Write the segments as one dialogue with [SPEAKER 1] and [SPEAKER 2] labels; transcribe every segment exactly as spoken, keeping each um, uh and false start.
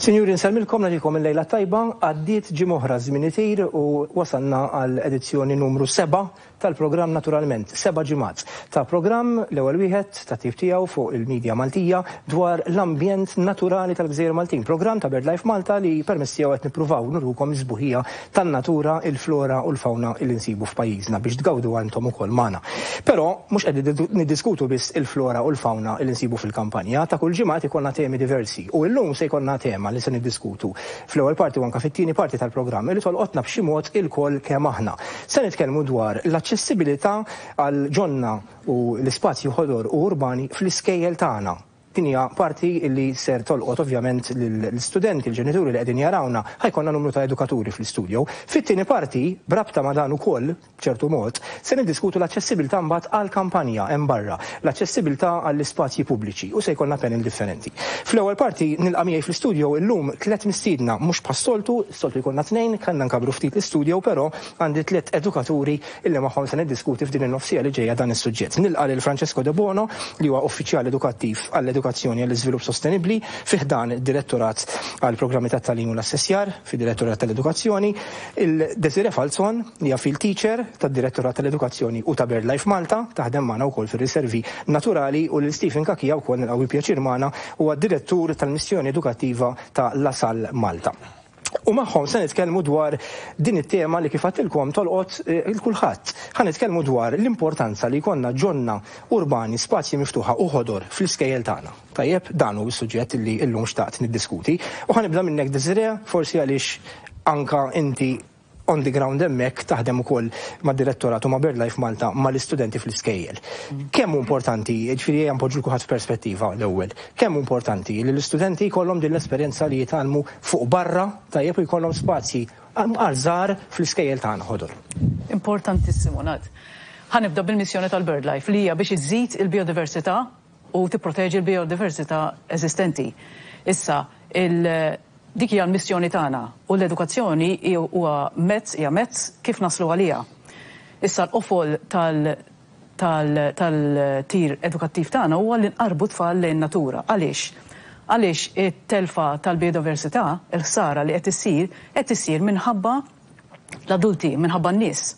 [SPEAKER 1] Sinjuri, nsellmilkom, nagħtikom il-lejla tajba. Għaddiet ġimgħa oħra, żmien itir u wasalna għal edizzjoni numru sebgħa tal-programm Naturalment. Seba' ġimgħat ta' programm, l-ewwel wieħed ta' tip tiegħu fuq il-medja Maltija dwar l-ambjent naturali tal-Gżejjer Maltin. Programm ta' BirdLife Malta li permezz tiegħu qed nippruvaw nurukom is-sbuħija tan-natura, il-flora u l-fauna li nsibu f'pajjiżna biex tgawdu għandhom ukoll magħna. Però mhux qed niddiskutu biss il-flora u l-fauna li nsibu fil-kampanja, ta' kull ġimgħa ikollna temi diversi u llum se jkollna tema li se niddiskutu fl-ewwel parti u anke fit-tieni parti tal-programm li tolqotna b'xi mod ilkoll kemm aħna. Se nitkellmu dwar l-aċċessibilità għal ġonna u l-ispazju ħodor u urbani fl-iskejjel tagħna. Din hija parti li ser tolqot ovvjament l-istudenti, l-ġenituri li qegħdin jarawna, ħa jkollna numru ta' edukaturi fl-istudio. Fit-tieni parti, b'rabta ma' dan ukoll, b'ċertu mod, se niddiskutu l-aċċessibilità mbagħad għall-kampanja hemm barra, l-aċċessibilità għall-ispazji pubbliċi, u se jkollna panel differenti. Fl-ewwel parti nilqa' miegħi fl-istudio illum tliet mistiedna, mhux bħas-soltu, soltu jkollna tnejn, kellna nkabru ftit l-istudio, però għandi tliet edukaturi illi magħhom se niddiskuti f'din in-nofs siegħa li ġejja dan is-suġġett. Nilqa' lil Francesco De Bono, li huwa uffiċjal edukattiv għall-edukazzjoni għall-iżvilupp sostenibbli fi ħdan id-Direttorat għal programmi ta' tagħlim u l-assessjar fid-Direttorat tal-Edukazzjoni, il-Desire Falzon, li hija field teacher tad-Direttorat tal-Edukazzjoni u ta' BirdLife Malta, taħdem magħna wkoll fir-riservi naturali, u lil Stephen Cachia wkoll nilqgħu pjaċir magħna, huwa direttur tal-missjoni edukattiva ta' La Salle Malta. U magħhom se nitkellmu dwar din it-tema li, kif għedtilkom, tolqot eh, il kulħadd. Ħa nitkellmu dwar l-importanza li jkollna ġonna urbani, spazji miftuħa u ħodor fl-iskejjel tagħna. Tajjeb, dan hu s-suġġett li llum xtaqt niddiskuti. U ħa nibda minnek, Desire, forsi għaliex anka inti on the ground hemmhekk taħdem ukoll mad-direttorat u ma' BirdLife Malta mal-istudenti fl-iskejjel. Kemm hu importanti, ġifieri ejja npoġġu kulħadd f'perspettiva l-ewwel, kemm hu importanti li l-istudenti jkollhom din l-esperjenza li jitgħallmu fuq barra, tajjeb, u jkollhom spazji għal fl-iskejjel tagħna ħodor?
[SPEAKER 2] Importantissimu, Nat. Ħa nibda bil-missjoni tal-BirdLife, li hija biex iżid il-biodiversità u tipproteġi l-biodiversità eżistenti. Issa, il dik hija l-missjoni tagħna u l-edukazzjoni huwa mezz hija mezz kif naslu għaliha. Issa, l-qofol tal tal-tir edukattiv tagħna huwa li nqarbu tfal lejn natura. Għaliex? Għaliex it-telfa tal-biodiversità, il-ħsara li qed issir, qed issir minħabba l-adulti, minħabba n-nies.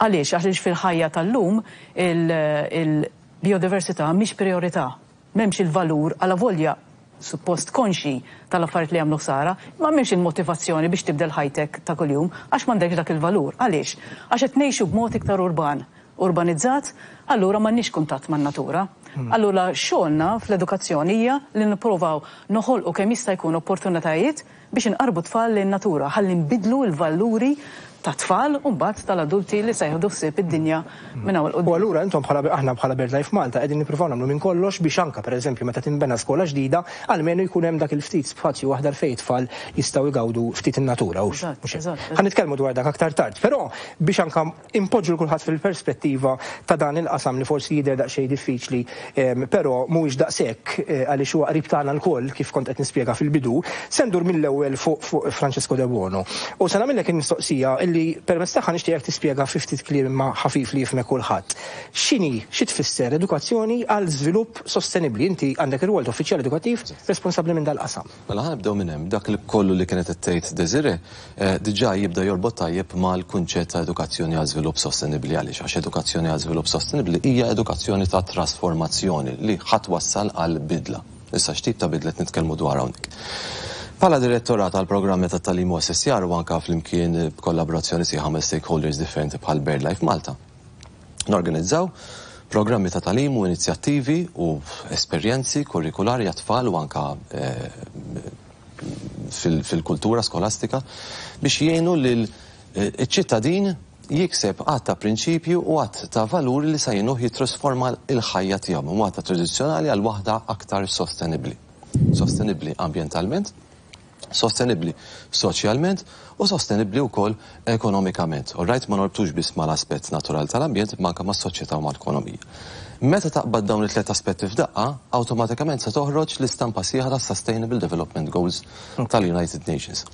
[SPEAKER 2] Għaliex? Għaliex fil-ħajja tal-lum il-biodiversità mhix priorità. M'hemmx il-valur, għala volja suppost konxi tal-affarijiet li jagħmlu ħsara, ma m'hemmx il-motivazzjoni biex tibdel ħajtek ta' kuljum għax m'għandekx dak il-valur. Għaliex? Għax qed ngħixu b'mod iktar urban, urbanizzat, allura m'għandniex kuntatt man-natura. Hmm. Allura xogħolna fl-edukazzjoni hija li nippruvaw noħolqu kemm jista' jkun opportunitajiet biex inqarbu tfal lejn natura ħalli nbidlu l-valuri ta' tfal u mbagħad tal-adulti li se jieħdu ħsieb id-dinja minn hawn.
[SPEAKER 1] U allura intom bħala, aħna bħala BirdLife Malta qegħdin nippruvaw nagħmlu minn kollox biex anka, pereżempju, meta tinbena skola ġdida, almenu jkun hemm dak il-ftit spazju aħdar fejn tfal jistgħu jgawdu ftit in-natura. Ħa nitkellmu dwar dak aktar tard, però biex anka impoġġu kulħadd fil-perspettiva ta' dan il-qasam li forsi jidher daqsxejn diffiċli, però mhuwiex daqshekk, eh, għaliex huwa qrib tagħna lkoll, kif kont qed nispjega fil-bidu, se ndur mill-ewwel fuq Francesco De Bono. U se nagħmellek il-mistoqsija illi permezz tagħha nixtieqek tispjega fi ftit kliem ma ħafif li jifhmek kulħadd. X'inhi, xi tfisser edukazzjoni għal żvilupp sostenibbli? Inti għandek ir-rwol uffiċjal edukattiv responsabbli minn dal-qasam.
[SPEAKER 3] Mela, ħa nibdew minn hemm. Dak li kollu li kienet qed tgħid Desire eh, diġà jibda jorbot tajjeb mal-kunċett ta' edukazzjoni għal żvilupp sostenibbli. Għaliex? Għax edukazzjoni għal żvilupp sostenibbli hija edukazzjoni ta' trasformazzjoni li ħa twassal għal bidla. Issa, x'tip ta' bidla qed nitkellmu dwar hawnhekk? Bħala direttorat għal programmi ta' tagħlim u assessjar u anka flimkien b'kollaborazzjoni sħiħa ma' stakeholders differenti bħal BirdLife Malta, norganizzaw programmi ta' tagħlim u inizjattivi u esperjenzi kurrikulari għat-tfal u anka eh, fil-kultura skolastika biex jgħinu lil eh, ċittadin jikseb għadd ta' prinċipju u għadd ta' valuri li se jgħinuh jitrasforma il-ħajja tiegħu minn waħda tradizzjonali għal waħda aktar sostenibbli. Sostenibbli ambjentalment, sostenibbli soċjalment u sostenibbli wkoll ekonomikament. All right, ma norbtux biss mal-aspett naturali tal-ambjent, ma anke mas-soċjetà u mal-ekonomija. Meta taqbad dawn it-tliet aspetti f'daqqa, awtomatikament se toħroġ l-istampa sħiħa ta' Sustainable Development Goals tal-United Nations.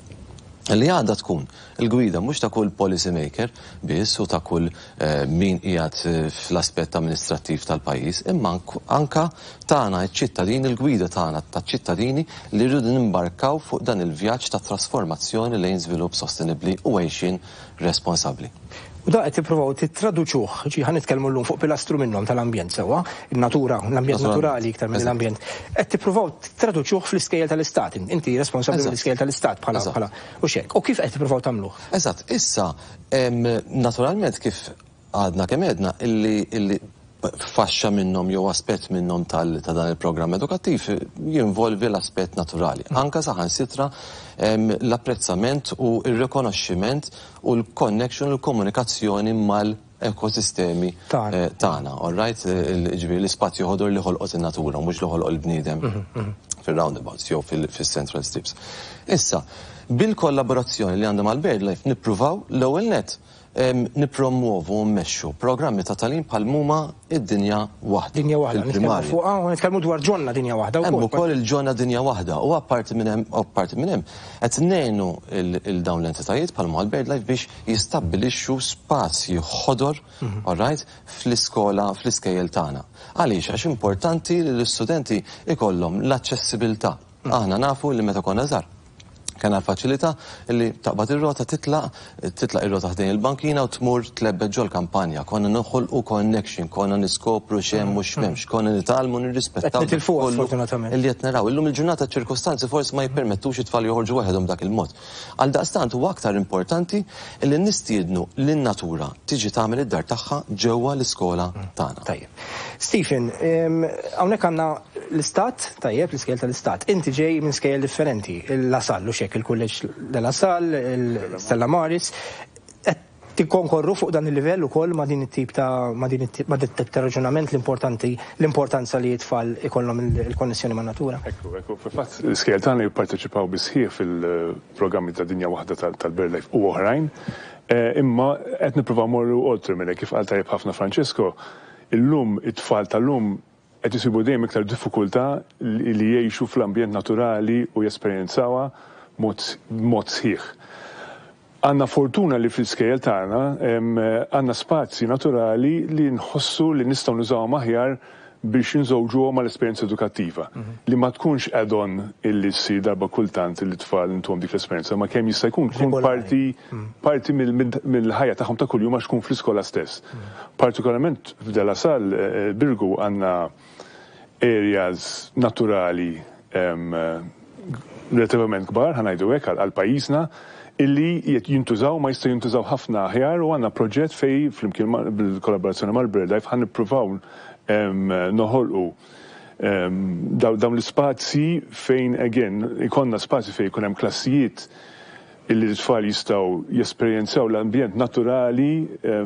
[SPEAKER 3] Li għandha tkun il-gwida mhux ta' kull policy maker biss u ta' kull eh, min qiegħed eh, fl-aspett amministrattiv tal-pajjiż, imma anka tagħna ċ-ċittadini, il-gwida tagħna taċ-ċittadini li rridu nimbarkaw fuq dan il-vjaġġ ta' trasformazzjoni lejn żvilupp sostenibbli u għejxin responsabbli.
[SPEAKER 1] U da qed tippruvaw tittraduċuh, ġi ħa nitkellmu llum fuq pilastru minnhom tal-ambjent sewwa, in-natura, l-ambjent naturali iktar minn l-ambjent. Qed tippruvaw tittraduċuh fl-iskejjel tal-istat. Inti responsabbli mill-iskejjel tal-istat bħala bħala u xek. U kif qed tippruvaw tagħmluh?
[SPEAKER 3] Eżatt, issa naturalment kif għadna kemm għedna illi illi faxxa minnhom jew aspett minnhom ta' dan il-programm edukattiv jinvolvi l-aspett naturali. Anka saħansitra l-apprezzament u r-rikonoxximent u l-connection u l-komunikazzjoni mal-ekosistemi tagħna. All right? Ġifieri l-ispazju ħodor li ħolqot in-natura, mhux li ħolqot il-bniedem fil-roundabouts jew fil-central strips. Issa, bil-kollaborazzjoni li għandha mal-BirdLife nippruvaw l-ewwel net nippromuovu u mmexxu programmi ta' tagħlim bħal huma id-Dinja Waħda.
[SPEAKER 1] Dinja Waħda, nitkellmu fuqha u nitkellmu dwar Ġonna Dinja Waħda
[SPEAKER 3] wkoll. Hemm ukoll il-Ġonna Dinja Waħda u apparti minn hemm apparti minn hemm qed ngħinu il dawn l-entitajiet bħal mal-BirdLife biex jistabbilixxu spazji ħodor, all right, fl-iskola, fl-iskejjel tagħna. Għaliex? Għax importanti li l-istudenti ikollhom l-aċċessibilità. Aħna nafu li meta konna żgħar kien l-faċilità li taqbad ir-rota, titlaq titlaq ir-rota ħdejn il-bankina u tmur tlebbet ġol kampanja. Konna noħolqu connection, konna niskopru x'hemm u x'm'hemmx, konna nitgħallmu nirrispettaw.
[SPEAKER 1] Fortunatament.
[SPEAKER 3] Illi qed naraw. Illum il-ġurnata ċirkostanzi forsi ma jippermettux it-tfal joħorġu waħedhom dak il-mod. Għal daqstant huwa aktar importanti li nistiednu lin-natura tiġi tagħmel id-dar tagħha ġewwa l-iskola tagħna.
[SPEAKER 1] Tajjeb. Stephen, hawnhekk għandna l-istat, tajjeb, l-iskejjel tal-istat. Inti ġej minn skejjel differenti, il-La Salle u xek, il-Kulleġġ de La Salle, il-Stella Maris. Tikkonkorru fuq dan il-livell ukoll ma' din it-tip ta' ma' din it-tip ma' dit ta' raġunament, l-importanti l-importanza li t-tfal ikollhom il-konnessjoni man natura.
[SPEAKER 4] Ekku, ekku, fil-fatt l-iskejjel tagħna jipparteċipaw bisħieħ fil-programmi ta' Dinja Waħda tal-BirdLife u oħrajn, imma qed nippruvaw morru oltre minn kif qal tajjeb ħafna Francesco, illum it-tfal tal-lum qed isibu dejjem iktar diffikultà li jgħixu fl-ambjent naturali u jesperjenzawha mod sħiħ. Għanna fortuna li fl-iskejjel tagħna għandna spazji naturali li nħossu li nistgħu nużawhom aħjar biex nżewġuhom mal-esperjenza edukattiva. Li ma tkunx add-on illi ssir darba kultant li tfal intuhom dik l-esperjenza, ma kemm jista' jkun tkun parti parti mill-ħajja tagħhom ta' kuljum għax tkun fl-iskola stess. Partikolarment f'De La Salle Birgu għandna areas naturali relativament kbar, ħa ngħidu hekk, għal pajjiżna, illi jintużaw, ma jistgħu jintużaw ħafna aħjar, u għandna proġett fej flimkien bil-kollaborazzjoni mal-BirdLife ħa nippruvaw noħolqu dawn l-ispazji fejn again ikonna spazji fejn ikun hemm klassijiet illi l-tfal jistgħu jesperjenzaw l-ambjent naturali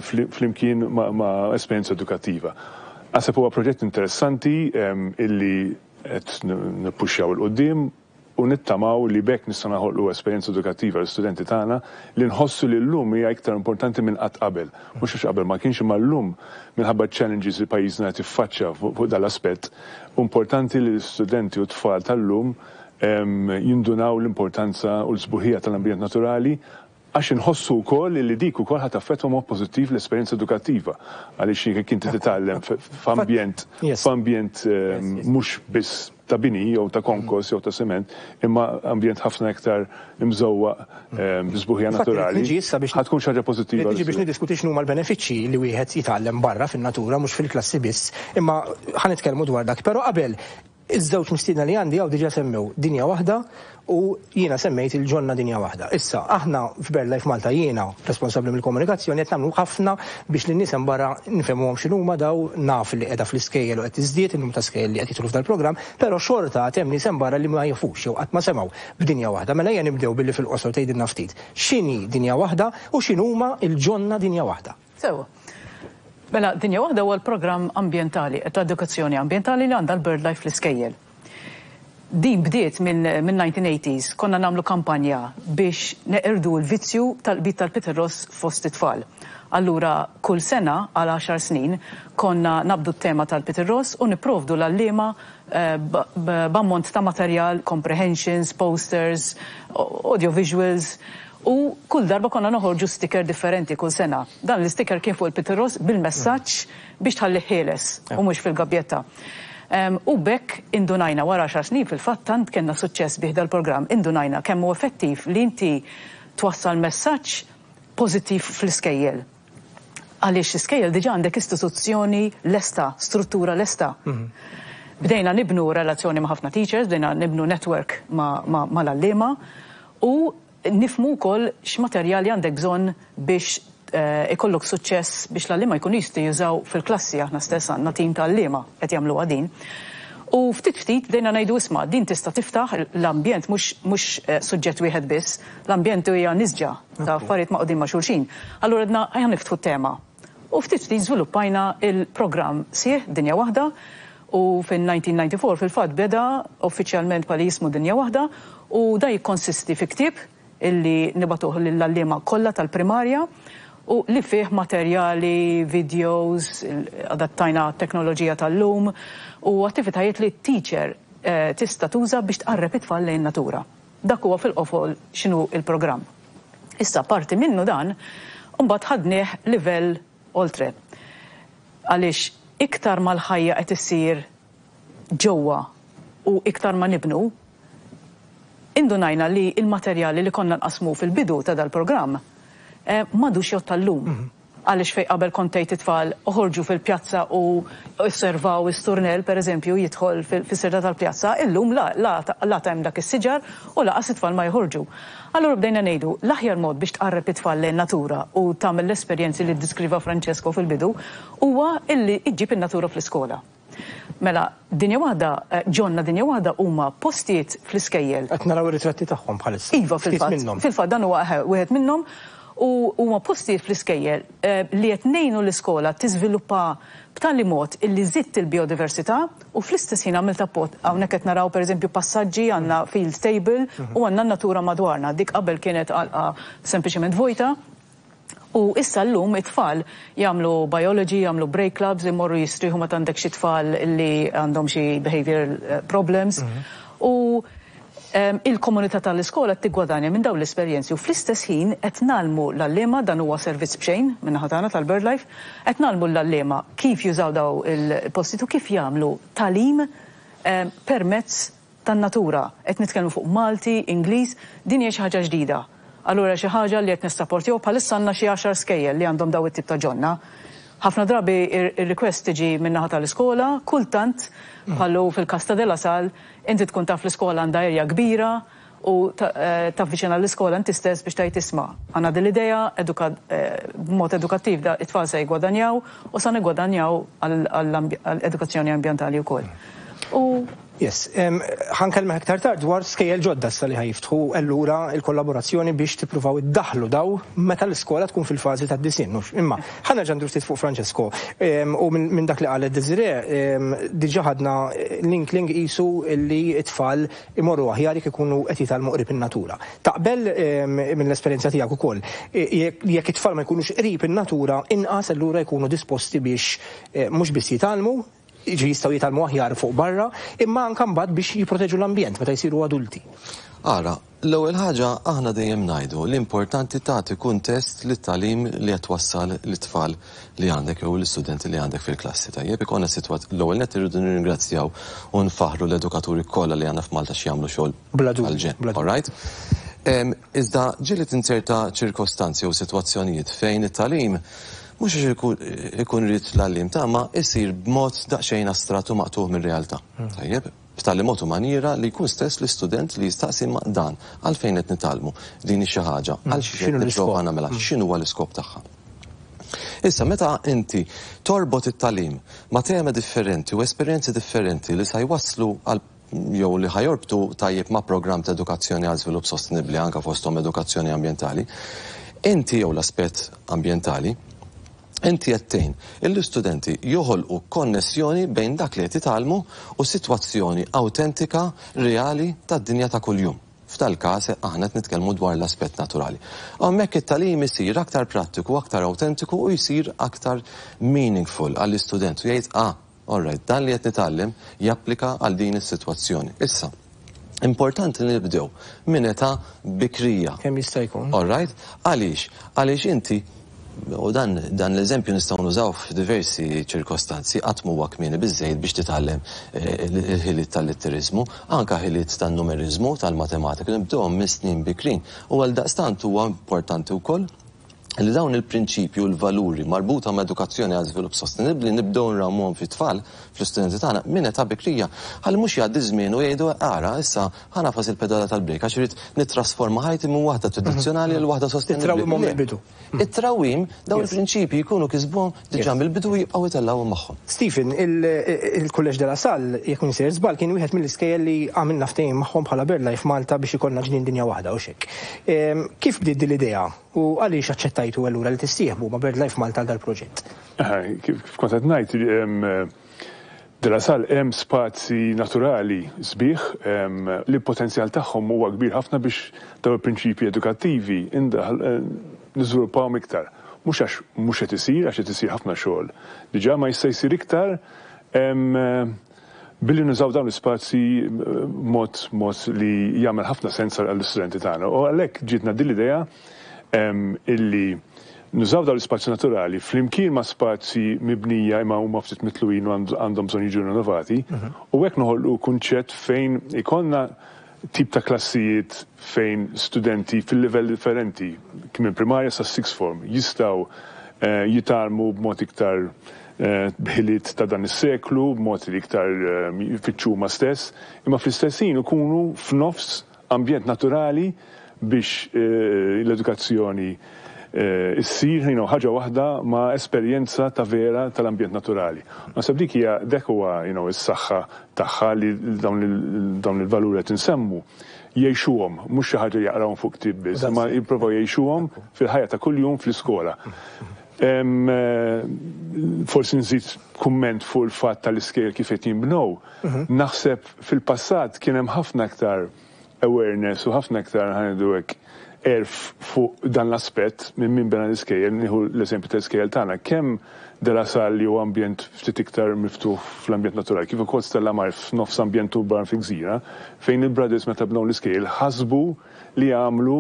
[SPEAKER 4] flimkien ma' esperjenza edukattiva. Naħseb huwa proġett interessanti illi qed nippuxxjaw 'il quddiem u nittamaw li bekk nistgħu naħolqu esperjenza edukattiva l-istudenti tagħna li nħossu li llum hija iktar importanti minn qatt qabel. Mhux għax qabel ma kienx, imma llum minħabba challenges li pajjiżna qed jiffaċċja fuq dal-aspett, importanti li l-istudenti u t-tfal tal-lum jindunaw l-importanza u l-sbuħija tal-ambjent naturali, għax inħossu wkoll li dik ukoll ħa taffettwa mod pożittiv l-esperjenza edukattiva. Għaliex jekk inti titgħallem f'ambjent f'ambjent mhux biss ta' bini jew ta' konkos jew ta' sement, imma ambjent ħafna iktar imżewwaq b'sbuħija naturali, ħa tkun xi ħaġa pożittiva.
[SPEAKER 1] Niġi biex niddiskuti x'inhuma l-benefiċċji li wieħed jitgħallem barra fin-natura, mhux fil-klassi biss, imma ħa nitkellmu dwar dak. Però qabel, iż-żewġ mistiedna li għandi hawn diġà semmew Dinja Waħda u jiena semmejt il-Ġonna Dinja Waħda. Issa, aħna f'BirdLife Malta, jiena responsabbli mill-komunikazzjoni, qed nagħmlu ħafna biex lin-nies hemm barra nfehmuhom x'inhuma daw, naf li qiegħda fl-iskejjel u qed tiżdied in-numru ta' skejjel li qed jidħlu f'dal-programm, però xorta għad hemm nies hemm barra li ma jafux jew qatt ma semgħu b'Dinja Waħda. Mela ejja nibdew billi fil-qosor tgħidilna ftit x'inhi Dinja Waħda u x'inhuma l-Ġonna Dinja Waħda.
[SPEAKER 2] Sewwa. Mela, Dinja Waħda huwa l-programm ambjentali, ta' edukazzjoni ambjentali li għandha l-BirdLife fl-iskejjel. Din bdiet minn nineteen eighties, konna nagħmlu kampanja biex neqirdu l-vizzju tal-qbid tal-pitirross fost it-tfal. Allura, kull sena għal għaxar snin konna nabdu t-tema tal-pitirross u nipprovdu l-għalliema b'ammont ta' materjal, comprehensions, posters, audiovisuals, U kull darba konna noħorġu sticker differenti kull sena. Dan l-sticker kien fuq il-pittiross bil-messaġġ biex tħalli ħieles u mhux fil-gabjetta. U b'hekk indunajna wara għaxar snin, fil-fatt, tant kellna suċċess bih dal-programm, indunajna kemm hu effettiv li inti twassal messaġġ pożittiv fl-iskejjel. Għaliex l-iskejjel diġà għandek istituzzjoni lesta, struttura lesta. Mhm. Bdejna nibnu relazzjoni ma' ħafna teachers, bdejna nibnu network mal-għalliema u nifhmu wkoll x'materjali għandek bżonn biex eh, ikollok suċċess, biex l-għalliema jkunu jistgħu jużaw fil-klassi. Aħna stess għandna tim ta' għalliema qed jagħmlu din. U ftit ftit bdejna ngħidu, "Isma', din tista' tiftaħ l-ambjent, mhux eh, suġġett wieħed biss, l-ambjent hija nisġa ta' affarijiet maqdin ma' xulxin." Allura għedna, "Ejja niftħu tema." U ftit ftit żviluppajna il-programm sħiħ Dinja Waħda u fin-elf disa' mija u disgħa u disgħin fil-fatt beda uffiċjalment bħala jismu Dinja Waħda, u da jikkonsisti fi ktieb illi nibagħtuh lill-għalliema kollha tal-primarja u li fih materjali, videos, adattajna teknoloġija tal-lum u attivitajiet li teacher eh, tista' tuża biex tqarreb it-tfal lejn natura. Dak huwa fil-qofol x'inhu il-programm. Issa, parti minnu dan, mbagħad ħadnieh livell oltre. Għaliex iktar mal-ħajja qed issir ġewwa u iktar ma nibnu, indunajna li il-materjali li konna nqasmu fil-bidu ta' dal-programm eh, m'għadux jgħodd tal-lum. Mhm. Għaliex fej qabel kont tgħid it-tfal oħorġu fil-pjazza u osservaw is-sturnell, per eżempju, jidħol fis-sirda tal-pjazza, illum la la la hemm dak is-siġar u lanqas it-tfal ma jħorġu. Allura bdejna ngħidu, l-aħjar mod biex tqarreb it-tfal lejn natura u tagħmel l-esperjenzi li ddiskriva Francesco fil-bidu huwa illi iġġib in-natura fl-iskola. Mela, Dinja Waħda, eh, Ġonna Dinja Waħda huma postijiet fl-iskejjel.
[SPEAKER 1] Qed naraw ir-ritratti tagħhom bħalissa.
[SPEAKER 2] Iva, fil-fatt. Fil-fatt dan huwa wieħed minnhom u huma postijiet fl-iskejjel eh, li qed ngħinu l-iskola tiżviluppa b'tali mod illi żidt il-biodiversità u fl-istess ħin għamilt appot. Hawnhekk qed naraw, pereżempju, passaġġi, għandna field table u għandna natura madwarna. Dik qabel kienet għalqa sempliċement vojta. U issa l-lum it-tfal jagħmlu biology, jagħmlu break clubs, imorru jistriħu meta għandek xi tfal li għandhom xi behavioral eh, problems. Mhm. U il-komunità tal-iskola tiggwadanja minn dawn l-esperjenzi u fl-istess ħin qed ngħallmu l-għalliema. Dan huwa servizz b'xejn minn tagħna tal-BirdLife, qed ngħallmu l-għalliema kif jużaw daw il-postijiet u kif jagħmlu tagħlim permezz tan-natura. Qed nitkellmu fuq Malti, Ingliż, din hija xi ħaġa ġdida. Allura xi ħaġa li qed nissapportjaw, bħalissa għandna xi għaxar skejjel li għandhom daw it-tip ta' ġonna. Ħafna drabi ir-request tiġi min-naħa tal-iskola, kultant bħallu fil-każ ta' De La Salle, inti tkun taf l-iskola għandha erja kbira u eh, tavviċina l-iskola inti stess biex tgħid, "Isma', għandna din l-idea eh, b'mod edukattiv, da it-tfal se jgwadanjaw u sa nigwadanjaw għall-edukazzjoni ambjentali wkoll." U
[SPEAKER 1] Yes, ħa nkellmek aktar tard dwar skejjel ġodda issa li ħa jiftħu, allura il-kollaborazzjoni biex tippruvaw iddaħlu daw meta l-iskola tkun fil-fażi ta' disinn. Imma ħa nerġa' ftit fuq Francesco u minn dak li qalet Desiree diġà ħadna l-inkling qisu li it-tfal imorru aħjar jekk ikunu qed jitgħallmu qrib in-natura. Taqbel mill-esperjenza tiegħek ukoll, jekk it-tfal ma jkunux qrib in-natura, inqas allura jkunu disposti biex eh, mhux biss jitgħallmu, ġi jistgħu jitgħallmu aħjar fuq barra, imma anke mbagħad biex jipproteġu l-ambjent meta jsiru adulti?
[SPEAKER 3] Ara, l-ewwel ħaġa, aħna dejjem ngħidu l-importanti tagħti kuntest lit-tagħlim li qed wassal lit-tfal li għandek jew l-istudenti li għandek fil-klassi. Tajjeb, ikollna sitwat l-ewwel net irridu nirringrazzjaw u nfaħru l-edukaturi kollha li għandna f'Malta xi jagħmlu xogħol għal-ġenn. All right? Iżda ġieli tinzerta ċirkostanzi u sitwazzjonijiet fejn it-tagħlim mhux ikun irid l-għalliem ta' ma isir b'mod daqsxejn astrat u maqtuħ mir-realtà. Hmm. Tajjeb, b'tali mod u maniera li jkun stess l-istudent li jistaqsi, "Ma dan għalfejn qed nitgħallmu din xi ħaġa, hmm. għal xi qed nipprova nagħmilha, hmm. x'inhu l-iskop tagħha?" Issa, meta inti torbot it-tagħlim ma' tema differenti u esperjenzi differenti li sa jwasslu għal jew li ħa jorbtu tajjeb ma' programm ta' edukazzjoni għal żvilupp sostenibbli, anka fosthom edukazzjoni ambjentali, inti jew l-aspett ambjentali, inti qed tgħin l-istudenti joħolqu konnessjoni bejn dak li qed jitgħallmu u sitwazzjoni awtentika, reali tad-dinja ta' kuljum. F'dal każ aħna qed nitkellmu dwar l-aspett naturali. Hemmhekk it-tagħlim isir aktar prattiku, aktar awtentiku u jsir aktar meaningful għall-istudent u jgħid, "Ah, all right, dan li qed nitgħallem japplika għal din is-sitwazzjoni." Issa, Importanti li nibdew minn età bikrija.
[SPEAKER 1] Kemm jista' jkun.
[SPEAKER 3] All right? Għaliex? Għaliex inti, u dan, dan l-eżempju nistgħu nużaw f'diversi ċirkostanzi, qatt huwa kmieni biżejjed biex titgħallem eh, il-ħiliet tal-litteriżmu, anka ħiliet tan-numeriżmu, tal-matematika, nibdewhom minn snin bikrin. U għal daqstant huwa importanti wkoll li dawn il-prinċipju u l-valuri marbuta ma' edukazzjoni għal żvilupp sostenibbli nibdew nrawmuhom fit-tfal, fl-istudenti tagħna minn età bikrija. Ħalli mhux jgħaddi żmien u jgħidu ara issa ħa nagħfas il-pedala tal-brejk għax irid nittrasforma ħajti minn waħda tradizzjonali għal waħda sostenibbli.
[SPEAKER 1] It-trawwimhom mill-bidu.
[SPEAKER 3] It-trawwim dawn il-prinċipji jkunu kisbuhom diġà mill-bidu, jibqgħu jtellgħuhom magħhom.
[SPEAKER 1] Stephen, il-Kulleġġ de la Salle, jekk sejjer żball, kien wieħed mill-iskejjel li għamilna ftehim magħhom bħala BirdLife Malta biex ikollna ġnien dinja waħda u xek. Kif bdiet din l-idea u għaliex aċċettajtu allura li tissieħbu ma' BirdLife Malta għal dal-proġett?
[SPEAKER 4] Kif kont qed ngħid, De La Salle hemm spazji naturali sbieħ li potenzjal tagħhom huwa kbir ħafna biex dawn il-prinċipji edukattivi niżviluppawhom iktar. Mhux għax mhux qed isir, għax qed isir ħafna xogħol. Diġà ma jista' jsir iktar billi nużaw dawn l-ispazji mod mod li jagħmel ħafna sens għall-istudenti tagħna. U għalhekk ġietna din l-idea illi nużaw dawn l-ispazji naturali flimkien ma' spazji mibnija imma huma ftit mitluqin u għandhom bżonn jiġu rinnovati, u hekk noħolqu kunċett fejn ikollna tip ta' klassijiet fejn studenti fil-livell differenti, kien minn primarja sa' sixth form, jistgħu jitgħallmu b'mod iktar b'ħiliet ta' dan is-seklu, b'mod li iktar jfittxu huma stess, imma fl-istess ħin ikunu f'nofs ambjent naturali biex l-edukazzjoni issir you know, ħaġa waħda ma' esperjenza ta' vera tal-ambjent naturali. Naħseb dik hija dak huwa you know, is-saħħa tagħha li dawn il-valuri qed insemmu jgħixuhom, mhux xi ħaġa jaqrawhom fuq ktieb biss, imma jippruvaw jgħixuhom fil-ħajja ta' kuljum fl-iskola. Forsi nżid kumment fuq il-fatt tal-iskejjel kif qed jinbnew. Naħseb fil-passat kien hemm ħafna aktar awareness u ħafna aktar, ħa ngħidu hekk, għerf fuq dan l-aspett minn min bena l-iskejjel. Nieħu l-eżempju tal-iskejjel tagħna, kemm De La Salle li huwa ambjent ftit iktar miftuħ fl-ambjent naturali, kif ukoll Stella Maris f'nofs ambjent urban fi gżira, fejn il-brothers meta bnew l-iskejjel ħasbu li għamlu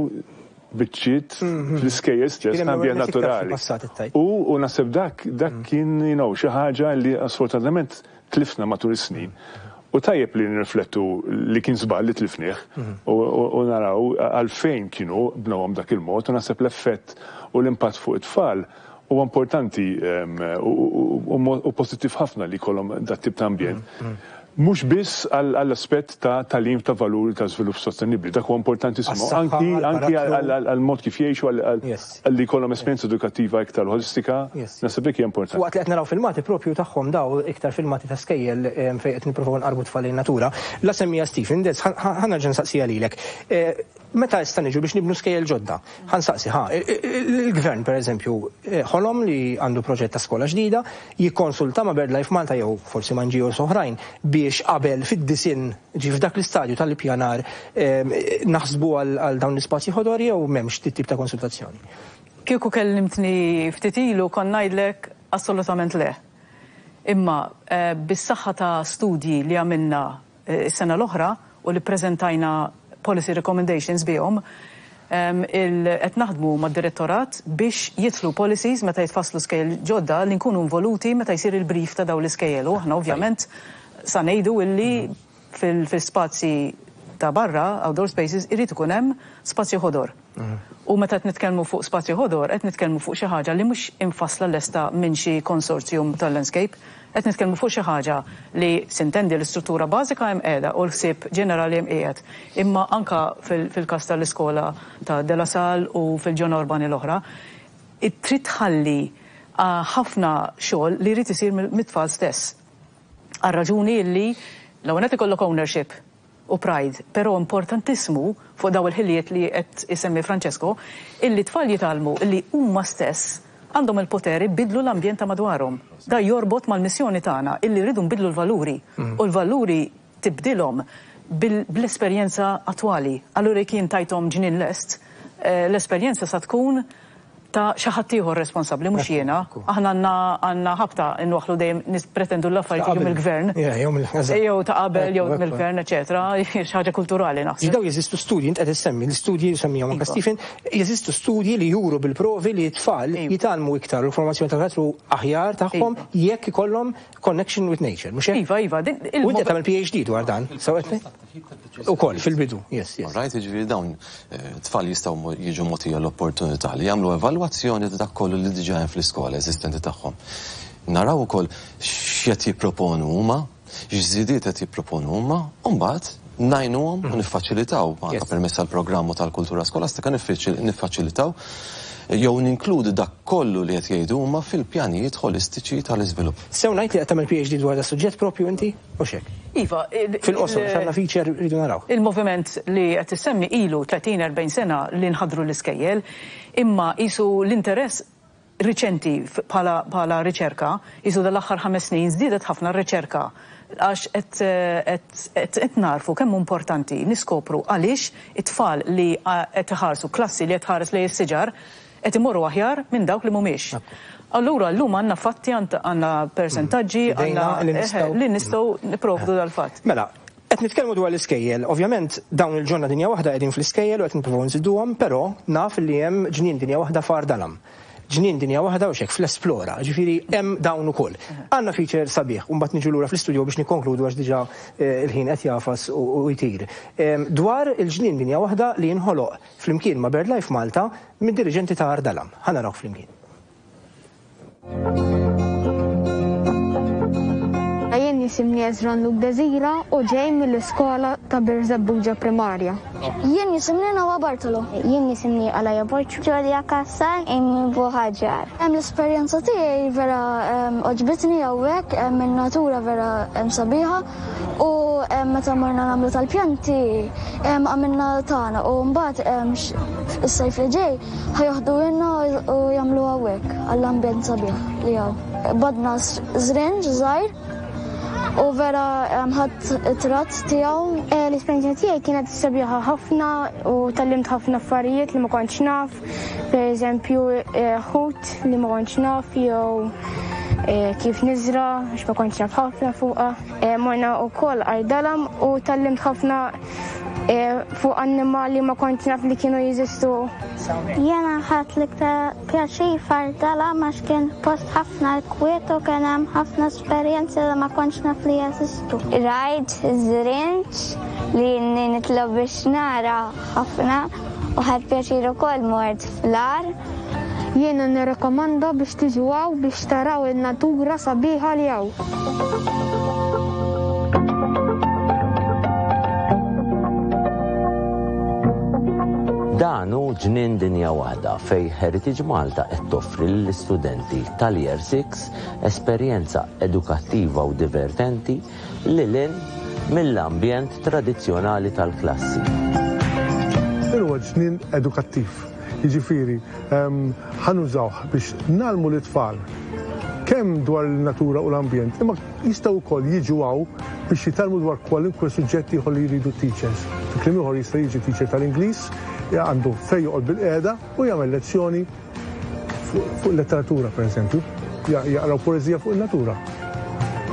[SPEAKER 4] biċċiet fl-iskejjel stess ambjent naturali. U naħseb dak dak kien you know, xi ħaġa li sfortunatament tlifna matul is-snin. U tajjeb li nirriflettu li kien żball li tlifnieh u naraw għalfejn kienu bnewhom dak il-mod, u naħseb l-effett u l-impatt fuq it-tfal huwa importanti u pożittiv ħafna li jkollhom dat tip ta' ambjent. Mhux biss għall-aspett ta' tagħlim ta' valuri ta' żvilupp sostenibbli, dak huwa importantissimu, anki anki għall-mod kif jgħixu, għal li jkollhom esperjenza edukattiva iktar holistika, naħseb dik hija importanti.
[SPEAKER 1] Waqt li qed naraw filmati propju tagħhom daw iktar filmati ta' skejjel fejn qed nippruvaw nqarbu tfal in-natura, la semmija Stephen, Des, ħa nerġa' nsaqsija lilek. Meta issa niġu biex nibnu skejjel ġodda, ħa nsaqsi, ħa, il-gvern per eżempju, ħolom li għandu proġett ta' skola ġdida, jikkonsulta ma' BirdLife Malta jew forsi ma' N G Os oħrajn biex qabel fid-disin ġi f'dak l-istadju tal-ippjanar naħsbu għal dawn l-ispazji ħodor jew m'hemmx tip ta' konsultazzjoni?
[SPEAKER 2] Kieku kellimtni ftit ilu kon ngħidlek assolutament le. Imma bis-saħħa ta' studji li għamilna s-sena l-oħra u li preżentajna policy recommendations bihom, qed naħdmu mad-direttorat biex jidħlu policies meta jitfasslu skejjel ġodda li nkunu involuti meta jsir il-brief ta' dawn l-iskejjel. U aħna ovvjament sa ngħidu illi fil-spazji ta' barra, outdoor spaces, irid ikun hemm spazju ħodor. U meta qed nitkellmu fuq spazju ħodor, qed nitkellmu fuq xi ħaġa li mhux infassla lesta minn xi consortium tal-landscape, qed nitkellmu fuq xi ħaġa li sintendi l-istruttura bażika hemm qiegħda u l-ħsieb ġenerali hemm qiegħed. Imma anka fil-każ tal-iskola ta' De La Salle u fil-ġona urbani l-oħra, trid tħalli ħafna xogħol li jrid isir mit-tfal stess. Għal raġuni li l-ewwel qed ikollok ownership u pride, però importantissimu fuq daw il-ħiliet li qed isemmi Francesco, illi tfal jitgħallmu illi huma stess għandhom il-poteri bidlu l-ambjent ta' madwarhom. Da jorbot mal-missjoni tagħna illi rridu nbidlu l-valuri u l-valuri tibdilhom bl-esperjenza attwali. Allura jekk jien tajthom ġnien lest, l-esperjenza sa tkun Ta' xi ħadd ieħor responsabbli, mhux jiena. Aħna għandna għandna ħabta nwaħħlu dejjem nispretendu l-affarijiet jiġu mill-gvern. Jew ta' qabel, jew mill-gvern, eċetera. Xi ħaġa kulturali naħseb.
[SPEAKER 1] Daw jeżistu studji, int qed issemmi, l-istudji semmihom anke Stephen, jeżistu studji li juru bil-provi li t-tfal jitgħallmu iktar u l-formazzjoni tal-karattru aħjar tagħhom jekk ikollhom connection with nature, mhux hekk?
[SPEAKER 2] Iva, iva.
[SPEAKER 1] U inti tagħmel P H D dwar dan, sewwa? Ukoll fil-bidu, yes, yes.
[SPEAKER 3] Right, jiġifieri dawn tfal jistgħu jiġu mogħtija l-opportunità li jagħmlu evalwazzjoni ta' dak kollu li diġà hemm fl-iskola eżistenti tagħhom. Naraw ukoll x'qed jipproponu huma, x'żidiet qed jipproponu huma, u mbagħad ngħinuhom u niffaċilitaw anke permezz tal-programmu tal-kultura skolastika, niffaċilitaw jew ninkludu dak kollu li qed jgħidu huma fil-pjanijiet holistiċi tal-iżvilupp.
[SPEAKER 1] Sew ngħid li qed tagħmel P H D dwar da suġġett propju inti u xek?
[SPEAKER 2] Iva.
[SPEAKER 1] Fil-qosor, għandna feature rridu naraw.
[SPEAKER 2] Il-moviment li qed issemmi ilu tletin erbgħin sena li nħadru l-iskejjel, imma qisu l-interess riċenti bħala riċerka, qisu dal-aħħar ħames snin żdiedet ħafna r-riċerka għax qed narfu kemm importanti niskopru għaliex it-tfal li qed iħarsu, klassi li qed tħares lejn is-siġar, qed imorru aħjar minn dawk li mhumiex. Allura llum għandna fatti, għandna persentaġġi, għandna li nistgħu nipprovdu dal-fatt.
[SPEAKER 1] Mela, qed nitkellmu dwar l-iskejjel, ovvjament dawn il-ġonna Dinja Waħda qegħdin fl-iskejjel u qed nippruvaw nżiduhom, però naf li hemm Ġnien Dinja Waħda f'Għar Dalam. Ġnien Dinja Waħda u xek fl-Esplora, ġifieri hemm dawn ukoll. Għandna feature sabiħ, u mbagħad niġu lura fl-istudio biex nikkonkludu għax diġà eh, il-ħin qed jagħfas u jtir. Dwar il-Ġnien Dinja Waħda li jinħoloq flimkien ma' BirdLife Malta minn diriġenti ta' Għar Dalam. Ħa naraw flimkien.
[SPEAKER 5] Jien jisimni Ezron Luke Desira u ġej mill-iskola ta' Birżebbuġa Primarja.
[SPEAKER 6] Jien jisimni Nawa Bartolo.
[SPEAKER 7] Jien jisimni Alaja Borċ. Ġolja Kassan, Amy Buħaġar.
[SPEAKER 6] Hemm l-esperjenza tiegħi vera għoġbitni hawnhekk, hemm in-natura vera hemm sabiħa u meta morna nagħmlu tal-pjanti għamilna tagħna u mbagħad is-sajf li ġej ħa joħduhielna u jagħmlu hawnhekk għall-ambjent sabiħ li hawn. Qbadna żrinġ żgħir u vera ħadt ritratt tiegħu.
[SPEAKER 5] Eh, l-esperjenza tiegħi kienet sabiħa ħafna u tgħallimt ħafna affarijiet li ma kontx naf, per eżempju eh, ħut li ma kontx naf jew eh, kif niżra, għax ma kontx naf ħafna fuqha. Morna wkoll Għar Dalam u tgħallimt ħafna fuq annimali ma kontx naf li kienu jeżistu.
[SPEAKER 7] Jena ħadt l-iktar pjaċir f'Għar Dalam għax kien post ħafna kwiet u kien hemm ħafna esperjenzi li ma kontx naf li jeżistu. Rajt żrinġ li nitlob biex nara ħafna u ħadt pjaċir ukoll mort fl-għar.
[SPEAKER 5] Jiena nirrekomanda biex tiġu hawn biex taraw in-natura sabiħa li hawn.
[SPEAKER 8] Dan hu Ġnien Dinja Waħda fej Heritage Malta qed toffri lill-istudenti tal-Year six esperjenza edukattiva u divertenti lil hinn mill-ambjent tradizzjonali tal-klassi.
[SPEAKER 9] Huwa ġnien edukattiv. Jiġifieri, ħa nużawh biex ngħallmu l-tfal kemm dwar il-natura u l-ambjent, imma jistgħu wkoll jiġu hawn biex jitgħallmu dwar kwalunkwe suġġetti ieħor li jridu teachers. Fi kliem ieħor, jista' jiġi teacher tal-Ingliż, għandu fejn joqgħod bilqiegħda u jagħmel lezzjoni fuq letteratura, per eżempju, jaqraw poeżija fuq il-natura.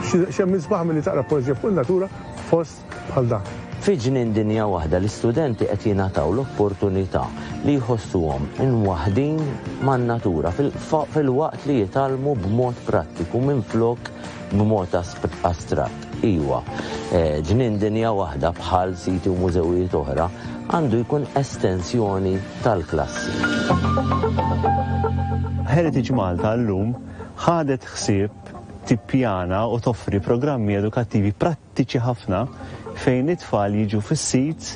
[SPEAKER 9] X'hemm isbaħ milli taqra poeżija fuq il-natura fost bħal dan?
[SPEAKER 8] Fi Ġnien Dinja Waħda l-istudenti qed jingħataw l-opportunità li jħossuhom imwaħħdin man-natura filwaqt li jitgħallmu b'mod prattiku minflok b'mod astratt. Iwa, eh, Ġnien Dinja Waħda, bħal siti u mużewijiet oħra, għandu jkun estensjoni tal-klassi.
[SPEAKER 10] Heritage Malta llum ħadet ħsieb tippjana u toffri programmi edukattivi prattiċi ħafna fejn it-tfal jiġu fis-sit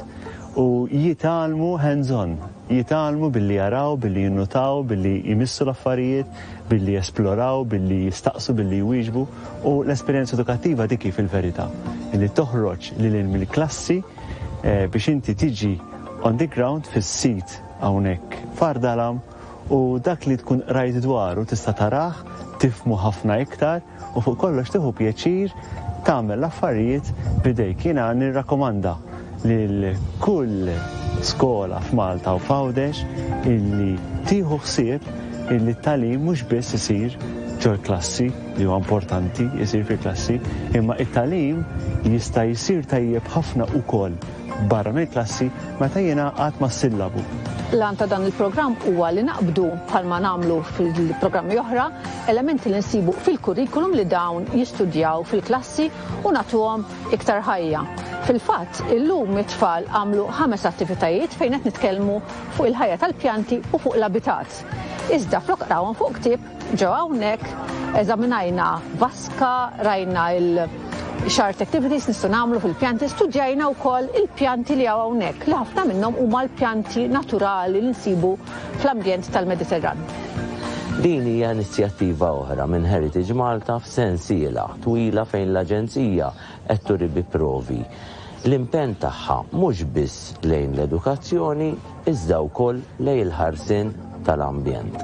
[SPEAKER 10] u jitgħallmu hands-on, jitgħallmu billi jaraw, billi jinnutaw, billi jmissu l-affarijiet, billi jesploraw, billi jistaqsu, billi jwieġbu, u l-esperjenza edukattiva dik fil-verità li toħroġ lil mill-klassi eh, biex inti tiġi on the ground fis-sit hawnhekk f'Għar Dalam u dak li tkun rajt dwaru tista' tarah, tifhmu ħafna iktar u fuq kollox tieħu pjaċir tagħmel l-affarijiet b'idejk. Jiena nirrakkomanda lil kull skola f'Malta u f'Għawdex illi tieħu ħsieb illi t-tagħlim mhux biss isir ġol-klassi, li huwa importanti jsir fil-klassi, imma it-tagħlim jista' jsir tajjeb ħafna ukoll barra mill-klassi meta jingħaqad mas-sillabu.
[SPEAKER 11] L-għan ta' dan il-programm huwa li naqbdu, bħalma nagħmlu fil-programmi oħra, elementi li nsibu fil-kurrikulum li dawn jistudjaw fil-klassi u nagħtuhom iktar ħajja. Fil-fatt, illum it-tfal għamlu ħames attivitajiet fejn qed nitkellmu fuq il-ħajja tal-pjanti u fuq l-abitat. Iżda flok qrawhom fuq ktieb, ġew hawnhekk, eżaminajna vaska, rajna il- x'art activities nistgħu nagħmlu fil-pjanti, studjajna wkoll il-pjanti li hawn hawnhekk, li ħafna minnhom huma l-pjanti naturali li nsibu fl-ambjent tal-Mediterran.
[SPEAKER 8] Din hija inizjattiva oħra minn Heritage Malta f'sensiela twila fejn l-Aġenzija qed turi bi provi l-impenn tagħha mhux biss lejn l-edukazzjoni iżda wkoll lejn il-ħarsien tal-ambjent.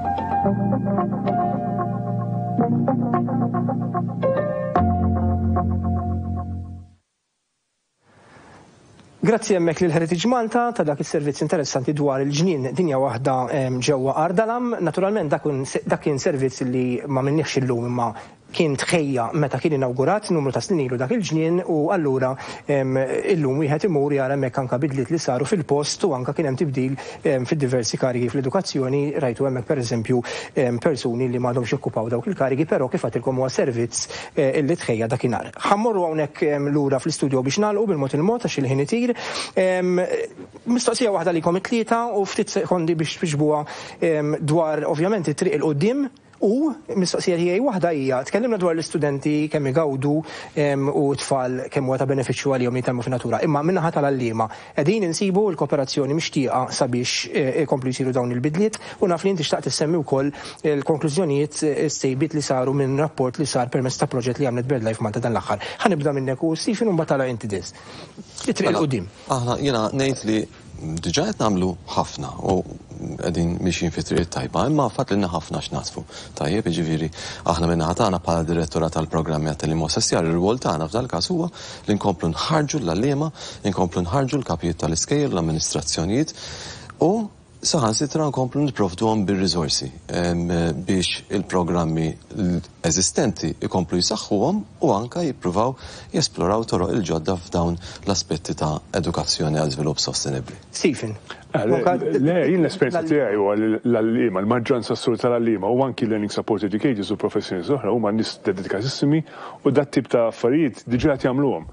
[SPEAKER 1] Grazzi hemmhekk lil Heritage Malta ta' dak is-servizz interessanti dwar il-ġnien Dinja Waħda ġewwa Għar Dalam. Naturalment dak kien servizz li ma minniex illum imma kien tħejja meta kien inawgurat numru ta' snin ilu dak il-ġnien, u allura illum wieħed imur jara hemmhekk anke bidliet li saru fil-post u anke kien hemm tibdil fid-diversi karigi fl-edukazzjoni. Rajtu hemmhekk pereżempju persuni li m'għadhomx jokkupaw dawk il-karigi, però kif għadtilkom huwa servizz illi tħejja dakinhar. Ħammorru hawnhekk lura fl-istudio biex nagħlqu bil-mod il-mod għax il-ħin itir. Mistoqsija waħda likom it-tlieta u ftit sekondi biex twiġbuha dwar ovvjament it-triq il quddiem. U mistoqsija tiegħi waħda hija, tkellimna dwar l-istudenti kemm igawdu u t-tfal kemm huwa ta' benefiċċju għalihom jitgħallmu fin-natura, imma min-naħa tal-għalliema qegħdin insibu l-kooperazzjoni mixtieqa sabiex ikomplu jsiru dawn il-bidliet, u naf li inti xtaqt issemmi wkoll il-konklużjonijiet is-sejbiet li saru minn rapport li sar permezz ta' proġett li għamlet BirdLife Malta dan l-aħħar. Ħa nibda minnek u Stephen u mbagħad tagħlaq inti Des. It-triq 'il quddiem.
[SPEAKER 3] Aħna jiena ngħid li diġà qed nagħmlu ħafna u qegħdin mixjin fi triq tajba, imma fatt lilna ħafna x'nasfu. Tajjeb, jiġifieri aħna min-naħa tagħna bħala direttora tal-programmi għat-tagħlim assessjar, ir-rwol tagħna f'dal-każ huwa li nkomplu nħarġu l-għalliema, nkomplu nħarġu l-kapijiet tal-iskejjel, l-amministrazzjonijiet u saħansitra nkomplu nipprovduhom bir-riżorsi biex il-programmi eżistenti ikomplu jisaħħuhom u anka jippruvaw jesploraw toroq il-ġodda f'dawn l-aspetti ta' edukazzjoni għal żvilupp sostenibbli.
[SPEAKER 1] Stephen.
[SPEAKER 4] Le, jien l-esperjenza tiegħi huwa l-għalliema, l-maġġoranza assoluta tal-għalliema u anki learning support educators u professjonisti oħra huma nies dedikatissimi u dat tip ta' affarijiet diġà qed jagħmluhom.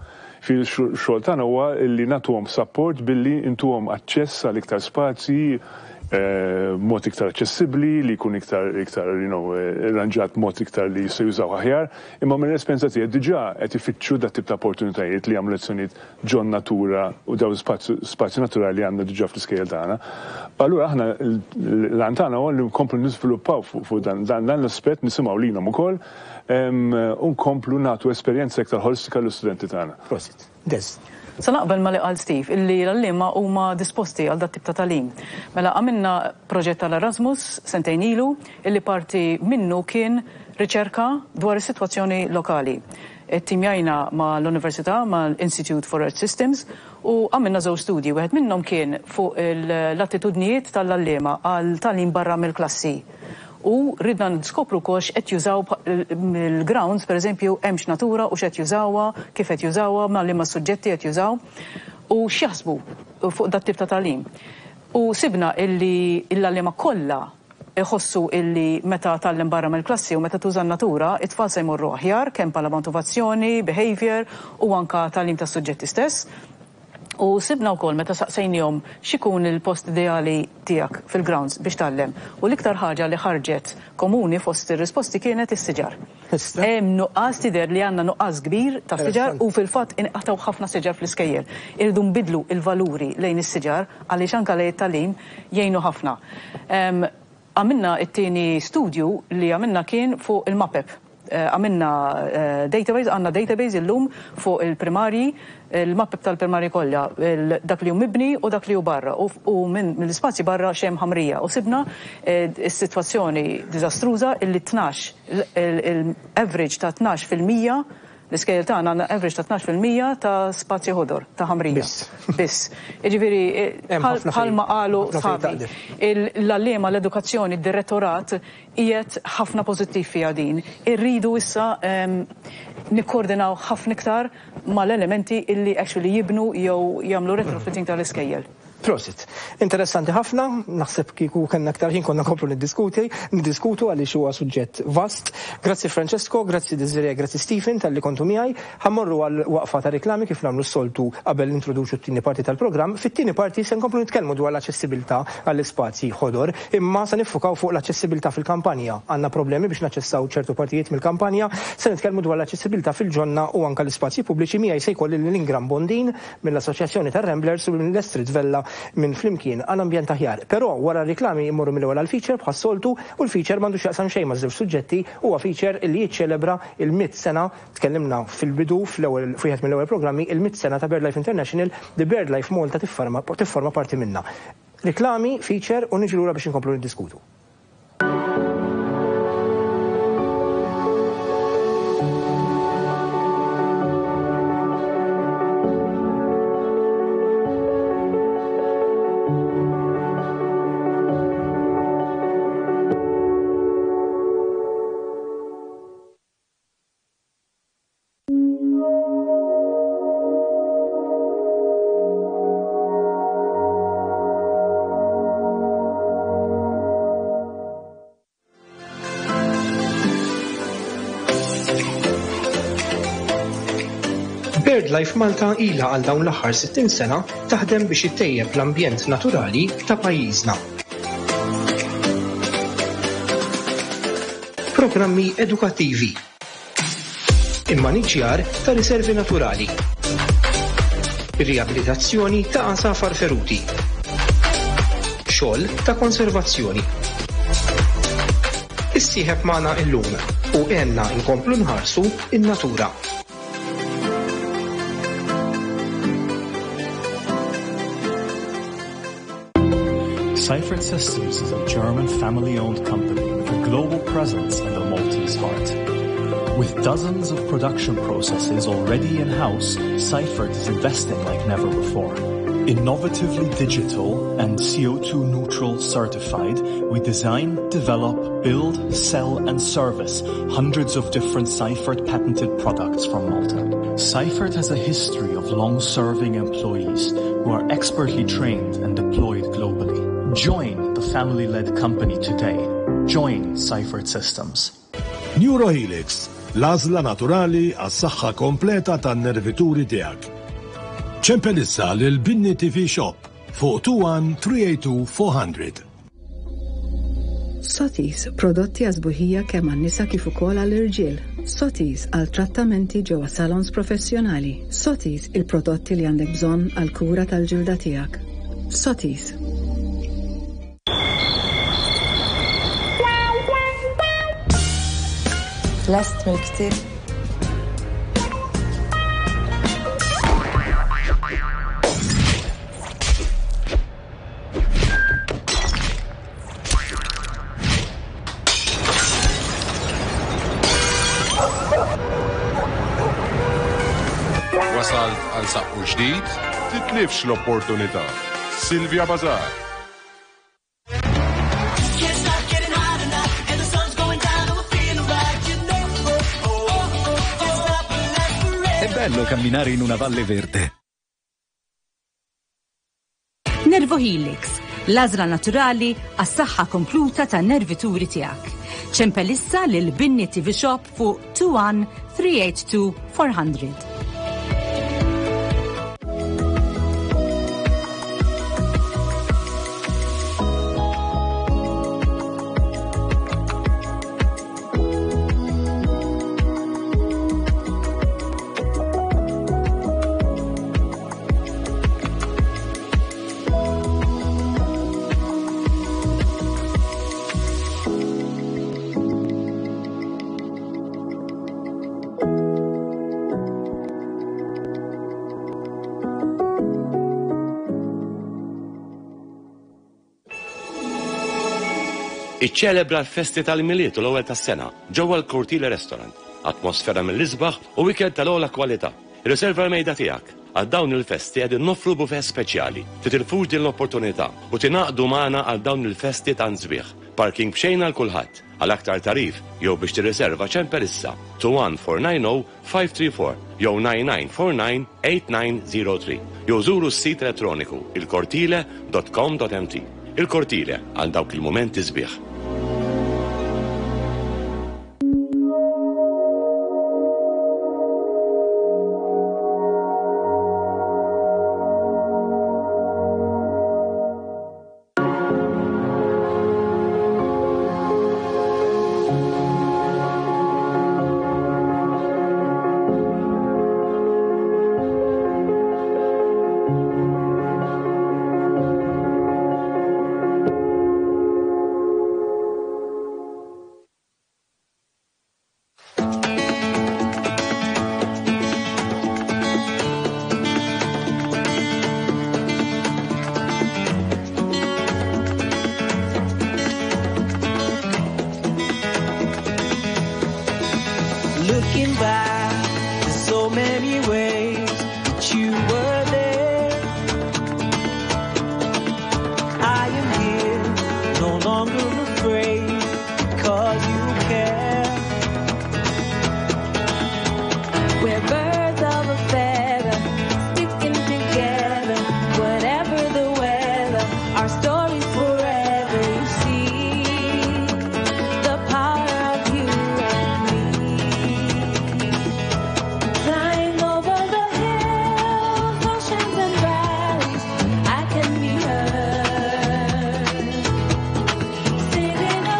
[SPEAKER 4] Fil-xogħol tagħna huwa li nagħtuhom support billi intuhom aċċess għal iktar spazji, mod iktar aċċessibbli, li jkun iktar iktar you know arranġat mod iktar li jistgħu jużaw aħjar, imma mill-esperjenza tiegħi diġà qed ifittxu dat tip ta' opportunitajiet li jagħmlu lezzjonijiet ġon natura u dawn spazji naturali li għandna diġà fl-iskejjel tagħna. Allura aħna l-għan tagħna huwa li nkomplu niżviluppaw fuq dan l-aspett, nisimgħu lilhom ukoll u nkomplu nagħtu esperjenza iktar ħolistika lill-istudenti tagħna.
[SPEAKER 1] Prosit. Des.
[SPEAKER 2] Sa naqbel ma li qal Steve, illi l-għalliema huma disposti għal dat tip ta' tagħlim. Mela għamilna proġett tal-Erasmus sentejn ilu, illi parti minnu kien riċerka dwar is-sitwazzjoni lokali. Timjajna ma' l-Università, ma' l-Institute for Earth Systems, u għamilna żewġ studji. Wieħed minnhom kien fuq l-attitudnijiet tal-għalliema għal tagħlim barra mill-klassi. U ridna niskopru wkoll x'qed jużaw il-grounds, pereżempju, hemmx natura u x'qed jużawha, kif qed jużawha, ma' liema suġġetti qed jużaw u x'jaħsbu fuq dat tip ta' tagħlim. U sibna illi l-għalliema kollha iħossu illi meta tgħallem barra mill-klassi u meta tuża n-natura, it-tfal se jmorru aħjar kemm bħala motivazzjoni, behavior u anka tagħlim tas-suġġetti stess. U sibna wkoll meta saqsejnihom x'ikun il-post ideali tiegħek fil-grounds biex tgħallem. U l-iktar ħaġa li ħarġet komuni fost ir-risposti kienet is-siġar. Hemm nuqqas, tidher li għandna nuqqas kbir ta' siġar u fil-fatt inqatgħu ħafna siġar fl-iskejjel. Irridu nbidlu il-valuri lejn is-siġar għaliex anke lejn it-tagħlim jgħinu ħafna. Għamilna it-tieni studju li għamilna kien fuq il-mapep. Għamilna database, għandna database illum fuq il-primarji, il-mapep tal-primarji kollha, dak li hu mibni u dak li hu barra, u mill-ispazji barra xemm ħamrija. U sibna s-sitwazzjoni diżastruża illi tnax, il-average ta' tnax fil-mija L-iskejjel tagħna għandna average ta' tnax fil-mija ta' spazji ħodor, ta' ħamrija.
[SPEAKER 1] Biss.
[SPEAKER 2] Biss. Jiġifieri,
[SPEAKER 1] Hemm ħafna fejn-
[SPEAKER 2] bħalma qalu
[SPEAKER 1] ħafna fejn
[SPEAKER 2] sħabi,
[SPEAKER 1] taqdef.
[SPEAKER 2] l-għalliema, l-edukazzjoni, id-direttorat qiegħed ħafna pożittiv fiha din. Irridu issa, ehm, nikkoordinaw ħafna iktar mal-elementi illi actually jibnu jew jagħmlu retrofitting tal-iskejjel.
[SPEAKER 1] Prosit. Interessanti ħafna, naħseb kieku kellna aktar ħin konna nkomplu niddiskuti, niddiskutu għaliex huwa suġġett vast. Grazzi Francesco, grazzi Desiree, grazzi Stephen talli kontu miegħi. Ħammorru għal waqfa ta' reklami kif nagħmlu s-soltu qabel nintroduċu t-tieni parti tal-programm. Fit-tieni parti se nkomplu nitkellmu dwar l-aċċessibilità għall-ispazji ħodor, imma se niffukaw fuq l-aċċessibilità fil-kampanja. Għandna problemi biex naċċessaw ċertu partijiet mill-kampanja, se nitkellmu dwar l-aċċessibilità fil-ġonna u anke l-ispazji pubbliċi. Miegħi se jkolli lil Ingram Bondin mill-Assoċjazzjoni tar-Ramblers u minn Estrid Vella minn Flimkien għal Ambjent Aħjar. Però wara r-reklami immorru mill-ewwel għal feature bħas-soltu, u l-feature m'għandux jaqsam xejn ma' żewġ suġġetti, huwa feature li jiċċelebra il-mitt sena, tkellimna fil-bidu fl-ewwel f'wieħed mill-ewwel programmi, il-mitt sena ta' BirdLife International, li BirdLife Malta tifforma, tifforma parti minna. Reklami, feature u niġu lura biex inkomplu niddiskutu. BirdLife Malta ilha għal dawn l-aħħar sittin sena taħdem biex ittejjeb l-ambjent naturali ta' pajjiżna. Programmi edukattivi, immaniġjar ta' riservi naturali, riabilitazzjoni ta' għasafar feruti, xogħol ta' konservazzjoni. Issieħeb magħna illum u għenna nkomplu nħarsu in-natura.
[SPEAKER 12] Seifert Systems is a German family-owned company with a global presence and a Maltese heart. With dozens of production processes already in-house, Seifert is investing like never before. Innovatively digital and C O two neutral certified, we design, develop, build, sell and service hundreds of different Seifert patented products from Malta. Seifert has a history of long-serving employees who are expertly trained and deployed globally. Join the family-led company today. Join Seifert Systems.
[SPEAKER 13] Neurohelix, l-għażla naturali għas-saħħa kompleta tan-nervituri tiegħek. Ċempel issa lil Binni T V Shop fuq two one three eight two four hundred.
[SPEAKER 14] Sotis, prodotti għażbuħija kemm għan-nisa kif ukoll għall-irġiel. Sotis għal trattamenti ġewwa salons professjonali. Sotis, il-prodotti li għandek bżonn għal kura tal-ġilda tiegħek. Sotis.
[SPEAKER 15] Lest mill-ktieb.
[SPEAKER 16] Wasalt għal saqqu ġdid, titlifx l-opportunità. Silvia Bazar.
[SPEAKER 17] È bello camminare in una valle verde.
[SPEAKER 18] Nervo Helix, l-għażla naturali għas-saħħa kompluta tan-nervituri tiegħek. Ċempel issa lil Binni T V Shop fuq two one three eight two four hundred.
[SPEAKER 19] Iċċelebra l-festi tal-Milied u l-ewwel tas-sena ġewwa l-Cortile Restaurant
[SPEAKER 15] Atmosfera mill-isbaħ u ikel tal-ogħla kwalità. Riserva l-mejda tiegħek. Għal dawn il-festi qegħdin noffru buffet speċjali. Titilfux din l-opportunità u tingħaqdu magħna għal dawn il-festi tant sbieħ. Parking b'xejn għal kulħadd. Għal aktar tagħrif jew biex tirriserva ċempel issa two one four nine zero five three four jew nine nine four nine eight nine zero three jew żuru s-sit elettroniku il-cortile dot com dot M T. Il-Cortile, għal dawk il-momenti sbieħ.
[SPEAKER 19] Looking back, there's so many ways that you were there. I am here, no longer afraid, 'cause you care.
[SPEAKER 20] We're birds of a feather, sticking together, whatever the weather, our story's forever. You see the power of you and me. Flying over the hills, oceans and valleys, I can be heard. Singing a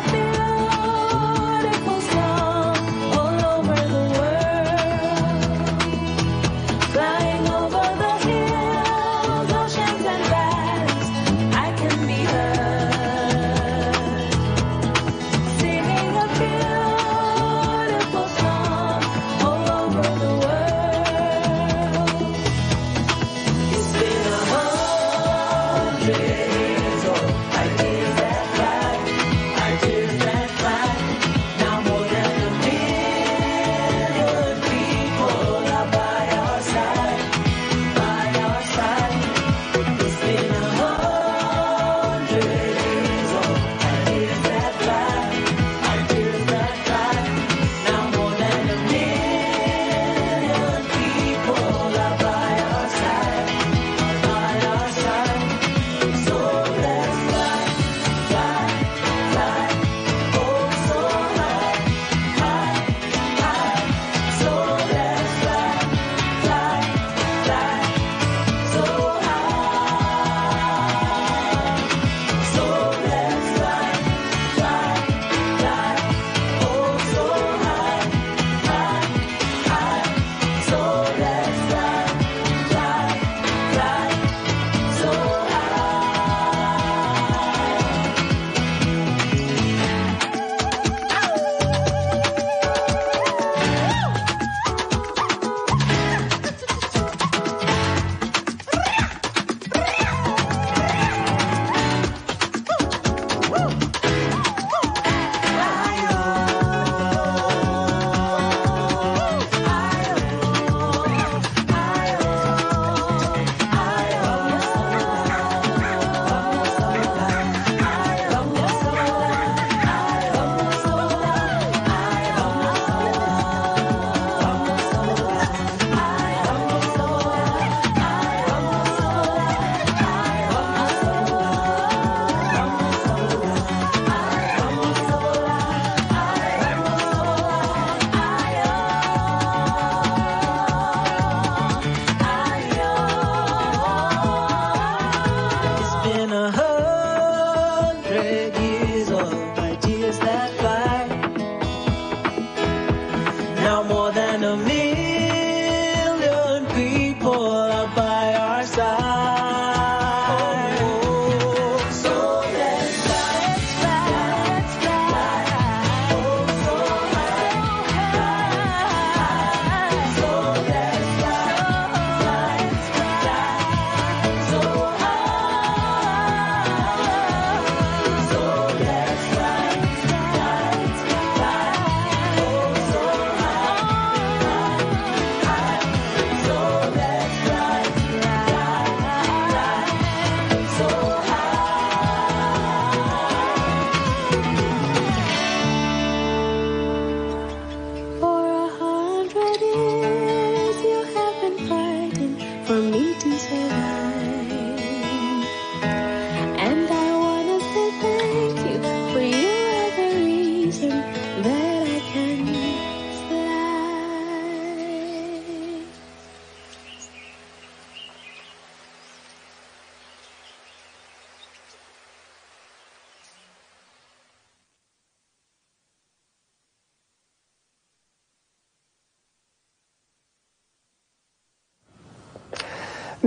[SPEAKER 20] reason that I can fly.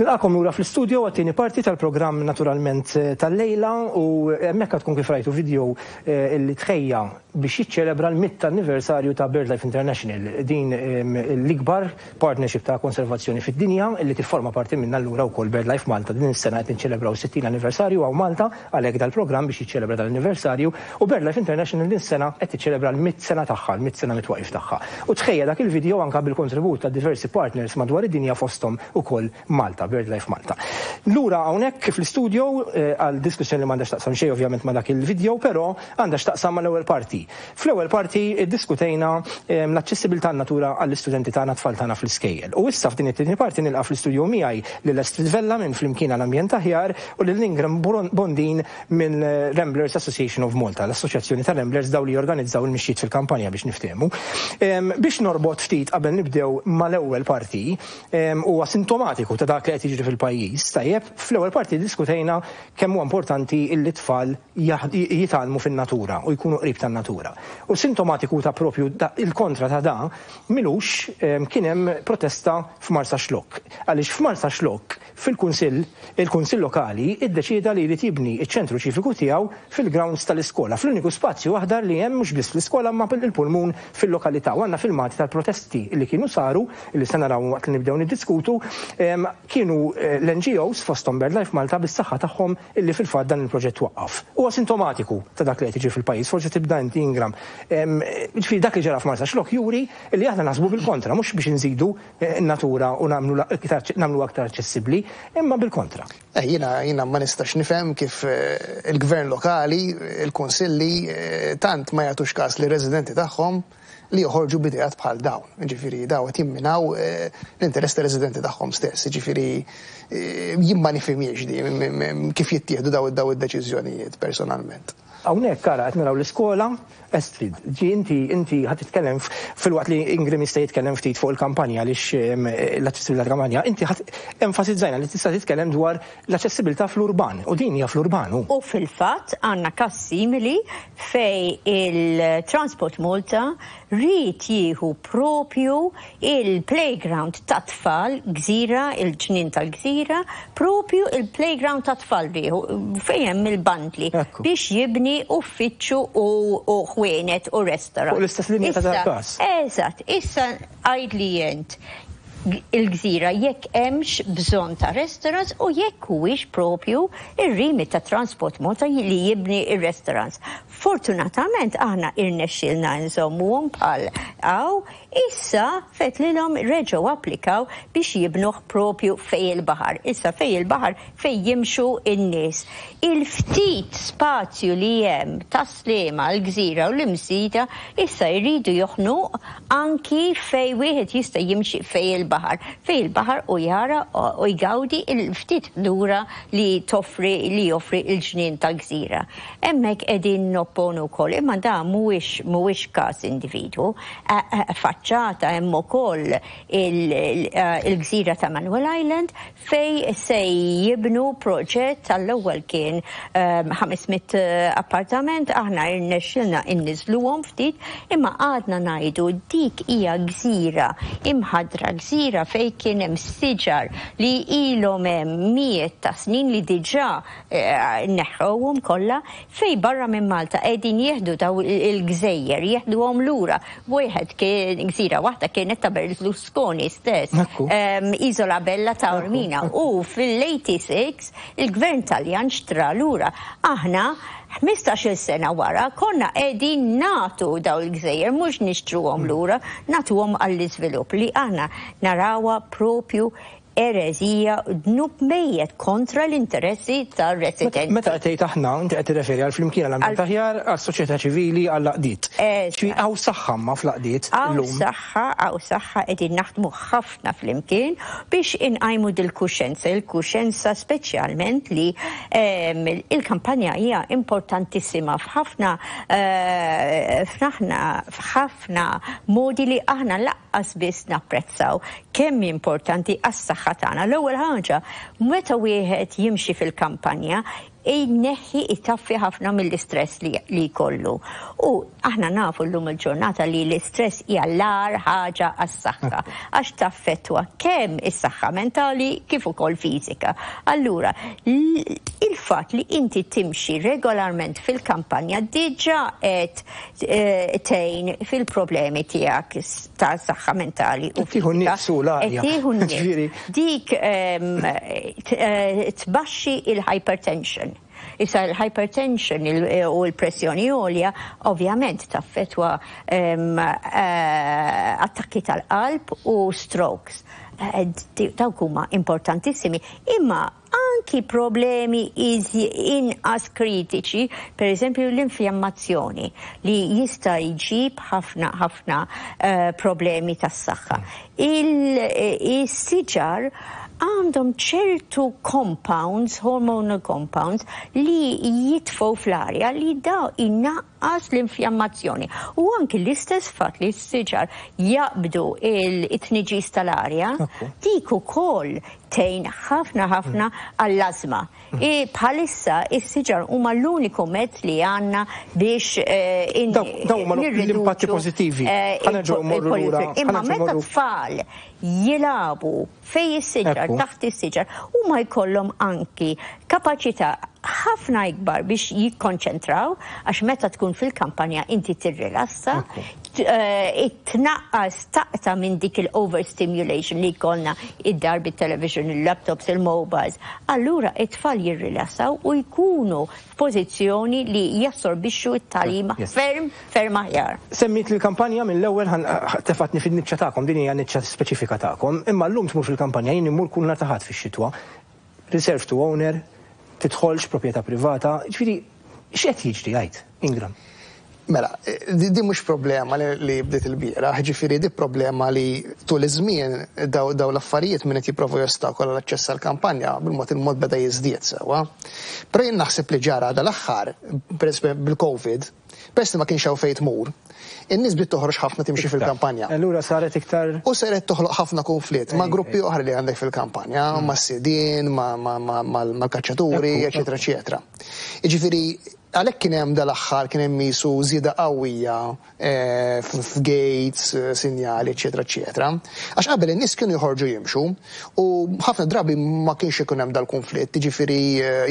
[SPEAKER 1] Nilqakom lura fl-istudio għat-tieni parti tal-programm Naturalment tal-lejla u hemmhekk tkun kif rajtu video li tħejja biex jiċċelebra l-mitt anniversarju ta' BirdLife International, din l-ikbar partnership ta' konservazzjoni fid-dinja li tifforma parti minna allura wkoll BirdLife Malta. Din is-sena qed niċċelebraw sittin anniversarju hawn Malta, għalhekk dal-programm biex jiċċelebra dal-anniversarju, u BirdLife International din is-sena qed tiċċelebra l-mitt sena tagħha, l-mitt sena mitwaqif tagħha. U tħejja dak il-video anke bil-kontribut ta' diversi partners madwar id-dinja fosthom ukoll Malta, BirdLife Malta. Lura hawnhekk fl-istudio għal diskussjoni li m'għandax taqsam xejn ovvjament ma' dak il-video, però għandha x'taqsam mal-ewwel parti. Fl-ewwel parti iddiskutejna l-aċċessibilità natura għall-istudenti tagħna, tfal tagħna fl-iskejjel. U issa f'din it-tieni parti nilqa' fl-istudio miegħi lil Astrid Vella minn Flimkien għall-Ambjent Aħjar u lil Ingram Bondin minn Ramblers Association of Malta, l-Assoċjazzjoni ta' Ramblers daw li jorganizzaw il-mixjiet fil-kampanja biex niftehmu. Biex norbot ftit qabel nibdew mal-ewwel parti, huwa sintomatiku ta' dak li qed jiġri fil-pajjiż. Tajjeb, fl-ewwel parti diskutejna kemm huwa importanti li t-tfal jitgħallmu fin-natura u jkunu qrib tan-natura. U sintomatiku ta' propju il-kontra ta' da, milux kien hemm protesta f'Marsaxlokk. Għaliex f'Marsaxlokk fil-kunsill, il-kunsill lokali iddeċieda li jrid jibni iċ-ċentru ċiviku tiegħu fil-grounds tal-iskola, fl-uniku spazju aħdar li hemm mhux biss fl-iskola ma il-pulmun fil-lokalità. U għandna filmati tal-protesti li kienu saru, li se naraw waqt li nibdew niddiskutu, kienu l-N G Os fosthom BirdLife Malta bis-saħħa tagħhom illi fil-fatt dan il-proġett waqqaf. Huwa sintomatiku ta' dak li qed jiġri fil-pajjiż, forsi tibda inti Ingram. Ġifieri dak li ġara f'Marsaxlokk juri li aħna naħsbu bil-kontra, mhux biex inżidu n-natura u nagħmlu aktar aċċessibbli, imma bil-kontra.
[SPEAKER 21] Jiena jiena ma nistax nifhem kif il-gvern lokali, il-kunsilli tant ma jagħtux każ li residenti tagħhom li joħorġu bidejat bħal dawn. Ġifieri daw qed jimminaw l-interess tar-residenti tagħhom stess. Ġifieri jien ma nifhimiex di kif jittieħdu daw daw id-deċiżjonijiet personalment.
[SPEAKER 1] Hawnhekk ara qed naraw l-iskola, Astrid, ġi inti inti ħadd titkellem fil-waqt li Ingram jista' jitkellem ftit fuq il-kampanja għaliex l-aċċessibilità tal-kampanja, inti ħadd enfasizzajna li tista' titkellem dwar l-aċċessibilità fl-urban u din hija fl-urban.
[SPEAKER 22] U fil-fatt għandna każ simili fej il-Transport Malta rrid jieħu propju il-playground ta' tfal gżira, il-ġnien tal-gżira, propju il-playground ta' tfal rieħu fejn hemm il-bandli biex jibni uffiċċju u ħwienet u restaurant.
[SPEAKER 1] U l-istess linja ta' dal-każ.
[SPEAKER 22] Eżatt, issa għidli jent il-gżira jekk hemmx bżonn ta' restaurants u jekk huwiex propju ir-rimi ta' Transport Malta li jibni ir-restaurants. Fortunatament aħna irnexxielna nżommuhom bħal hawn, issa fetlilhom reġgħu applikaw biex jibnuh propju fej il-baħar. Issa fej il-baħar fej jimxu in-nies. Il-ftit spazju li hemm ta' Sliema, l-gżira u l-Imsida issa jridu joħnuq anki fej wieħed jista' jimxi fej il-baħar. Fej il-baħar u jara u jgawdi il-ftit lura li toffri li joffri il-ġnien tal-gżira. Hemmhekk qegħdin nopponu wkoll, imma da mhuwiex mhuwiex każ individwu. Faċċata hemm ukoll il-gżira ta' Manuel Island fej se jibnu proġett tal-ewwel kien ħames mitt appartament, aħna irnexxilna inniżluhom ftit, imma għadna ngħidu dik hija gżira imħadra, gżira fej kien hemm siġar li ilhom hemm mijiet ta' snin li diġà neħħewhom kollha, fej barra minn Malta qegħdin jieħdu daw il-gżejjer, jieħduhom lura. Wieħed kien gżira waħda kienet ta' Berlusconi stess, Isola Bella ta' Ormina, u fil-eighty-six il-gvern Taljan xtra lura. Aħna ħmistax-il sena wara konna qegħdin nagħtu daw il-gżejjer, mhux nixtruhom lura, nagħtuhom għall-iżvilupp li aħna narawha propju Erezija, dnub mejjet kontra l-interessi tar-residenti.
[SPEAKER 1] Meta qed tgħid aħna, inti qed tirreferi għal Flimkien għall-Ambjent Aħjar, għas-soċjetà ċivili, għall-għaqdiet. Hawn saħħa ma fl-għaqdiet
[SPEAKER 22] illum. Hawn saħħa, hawn saħħa qegħdin naħdmu ħafna flimkien biex inqajmu dil-kuxenza, il-kuxenza speċjalment li il-kampanja hija importantissima f'ħafna f'ħafna modi li aħna laqqas biss napprezzaw kemm importanti għas-saħħa tagħna. L-ewwel ħaġa, meta wieħed jimxi fil-kampanja, jneħħi itaffi ħafna mill-istress li jkollu. U aħna nafu llum il-ġurnata li l-istress hija l-agħar ħaġa għas-saħħa, għax taffettwa kemm is-saħħa mentali kif ukoll fiżika. Allura, il-fatt li inti timxi regolarment fil-kampanja diġà qed tgħin fil-problemi tiegħek ta' saħħa mentali u
[SPEAKER 1] tieħu nifs u l-arja.
[SPEAKER 22] Dik tbaxxi il-hypertension. Issa l-hypertension u l-pressjoni għolja ovvjament taffetwa attakki tal-qalb u strokes. Dawk huma importantissimi. Imma anki problemi inqas kritiċi, per eżempju l-infjammazzjoni li jista' jġib ħafna ħafna problemi tas-saħħa. Il-siġar għandhom ċertu compounds, hormonal compounds, li jitfgħu fl-arja li daw inaqqas l-infjammazzjoni. U anki l-istess fatt li s-siġar jaqbdu it-tniġis tal-arja, dik ukoll tgħin ħafna ħafna għall-ażma. Bħalissa is-siġar huma l-uniku mezz li għandna biex
[SPEAKER 1] dawn huma l-impatti pożittivi.
[SPEAKER 22] Imma meta tfal jilagħbu fej is-siġar, taħt is-siġar, huma jkollhom anki kapaċità ħafna ikbar biex jikkonċentraw, għax meta tkun fil-kampanja inti tirrilassa, tnaqqas taqta' minn dik il-overstimulation li jkollna id-dar bit-television, il-laptops, il-mobiles. Allura it-tfal jirrilassaw u jkunu f'pożizzjoni li jassorbixxu t-tagħlim ferm, ferm aħjar.
[SPEAKER 1] Semmit l-kampanja mill-ewwel tefatni fin-niċċa tagħkom, din hija niċċa speċifika tagħkom, imma llum tmur fil-kampanja jien immur kull nhar ta' Ħadd fix-xitwa. Reserve to owner, tidħolx proprjetà privata, ġifieri x'qed jiġri għid, Ingram?
[SPEAKER 21] Mela, di mhux problema li bdiet il-bieraħ, ġifieri di problema li tul iż-żmien daw l-affarijiet min qed jipprovu jostakola l-aċċess għall-kampanja bil-mod il-mod beda jiżdied sewwa. Però jien naħseb li ġara dal-aħħar, bil-Covid, peress li ma kienx hawn fejn tmur, in-nies bdiet toħroġ ħafna timxi fil-kampanja.
[SPEAKER 1] Allura saret iktar.
[SPEAKER 21] U saret toħloq ħafna konflitt ma' gruppi oħra li għandek fil-kampanja, ma' sidien, mal-kaċċaturi, eċetera, eċetera. Jiġifieri għalhekk kien hemm dal-aħħar kien hemm qisu żieda qawwija f'gates, sinjali, eċetera, eċetera. Għax qabel in-nies kienu joħorġu jimxu u ħafna drabi ma kienx ikun hemm dal-konflitt, jiġifieri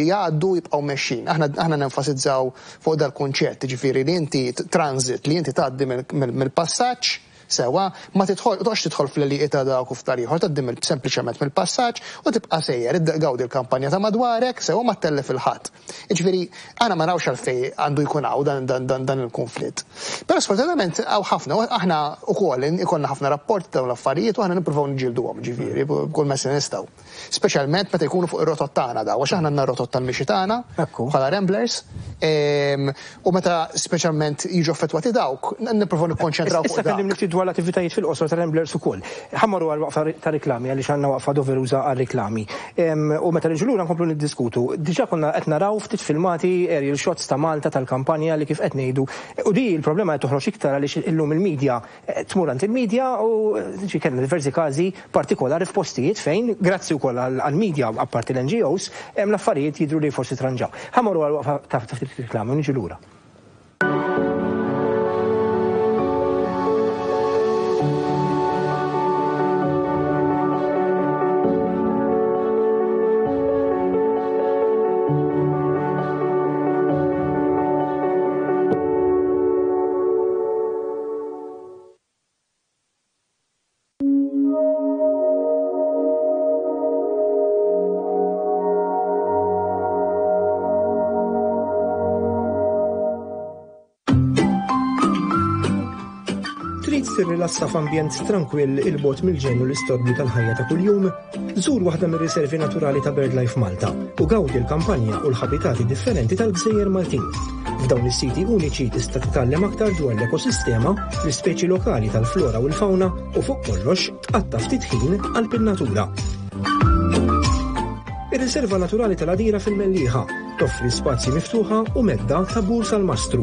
[SPEAKER 21] jgħaddu jibqgħu mexxin. Aħna nenfasizzaw fuq dal-kunċett, jiġifieri li inti transit, li inti tgħaddi mill-passaġġ sewa, ma tidħol, toqgħodx tidħol fl-għelieqi ta' dawk u f'tal ieħor, tgħaddi sempliċement mill-passaġġ u tibqa' sejjer, gawdi l-kampanja ta' madwarek, sewa ma ttellef il-ħadd. Jiġifieri aħna ma narawx għalfejn għandu jkun hawn dan il-konflitt. Però sfortunatament hawn ħafna, aħna wkoll ikollna ħafna rapporti dawn l-affarijiet u aħna nippruvaw niġġielduhom, ġifieri, b'kull mezz li nistgħu. Speċjalment meta jkunu fuq ir-rotot tagħna daw, għax aħna għandna r-rotot tal-mixi tagħna bħala Ramblers, u meta speċjalment jiġu affettwati dawk, nippruvaw nikkonċentraw fuq dak.
[SPEAKER 1] Dwar l-attivitajiet fil-qosor ta' Ramblers ukoll. Ħammorru għal waqfa ta' reklami għaliex għandna waqfa doveruża għal reklami. U meta niġu lura nkomplu niddiskutu. Diġà konna qed naraw ftit filmati aerial shots ta' Malta tal-kampanja li kif qed ngħidu. U di l-problema qed toħroġ iktar għaliex illum il-medja tmur għand il-medja u kellna diversi każi partikolari f'postijiet fejn grazzi wkoll għall-medja apparti l-N G Os hemm l-affarijiet jidhru li forsi tranġaw. Ħammorru għal waqfa ta' ftit reklami u niġu lura. Trid tirrilassa f'ambjent trankwill 'il bogħod mill-ġenn u l-istorbju tal-ħajja ta' kuljum? Żur waħda mir-riservi naturali ta' BirdLife Malta u gawdi l-kampanja u l-ħabitati differenti tal-gżejjer Maltin. F'dawn is-siti uniċi tista' titgħallem aktar dwar l-ekosistema, l-ispeċi lokali tal-flora u l-fauna u fuq kollox tqatta' ftit ħin qalb in-natura. Ir-riserva naturali tal-Għadira fil-Mellieħa toffri spazji miftuħa u medda ta' Bur Salmastru.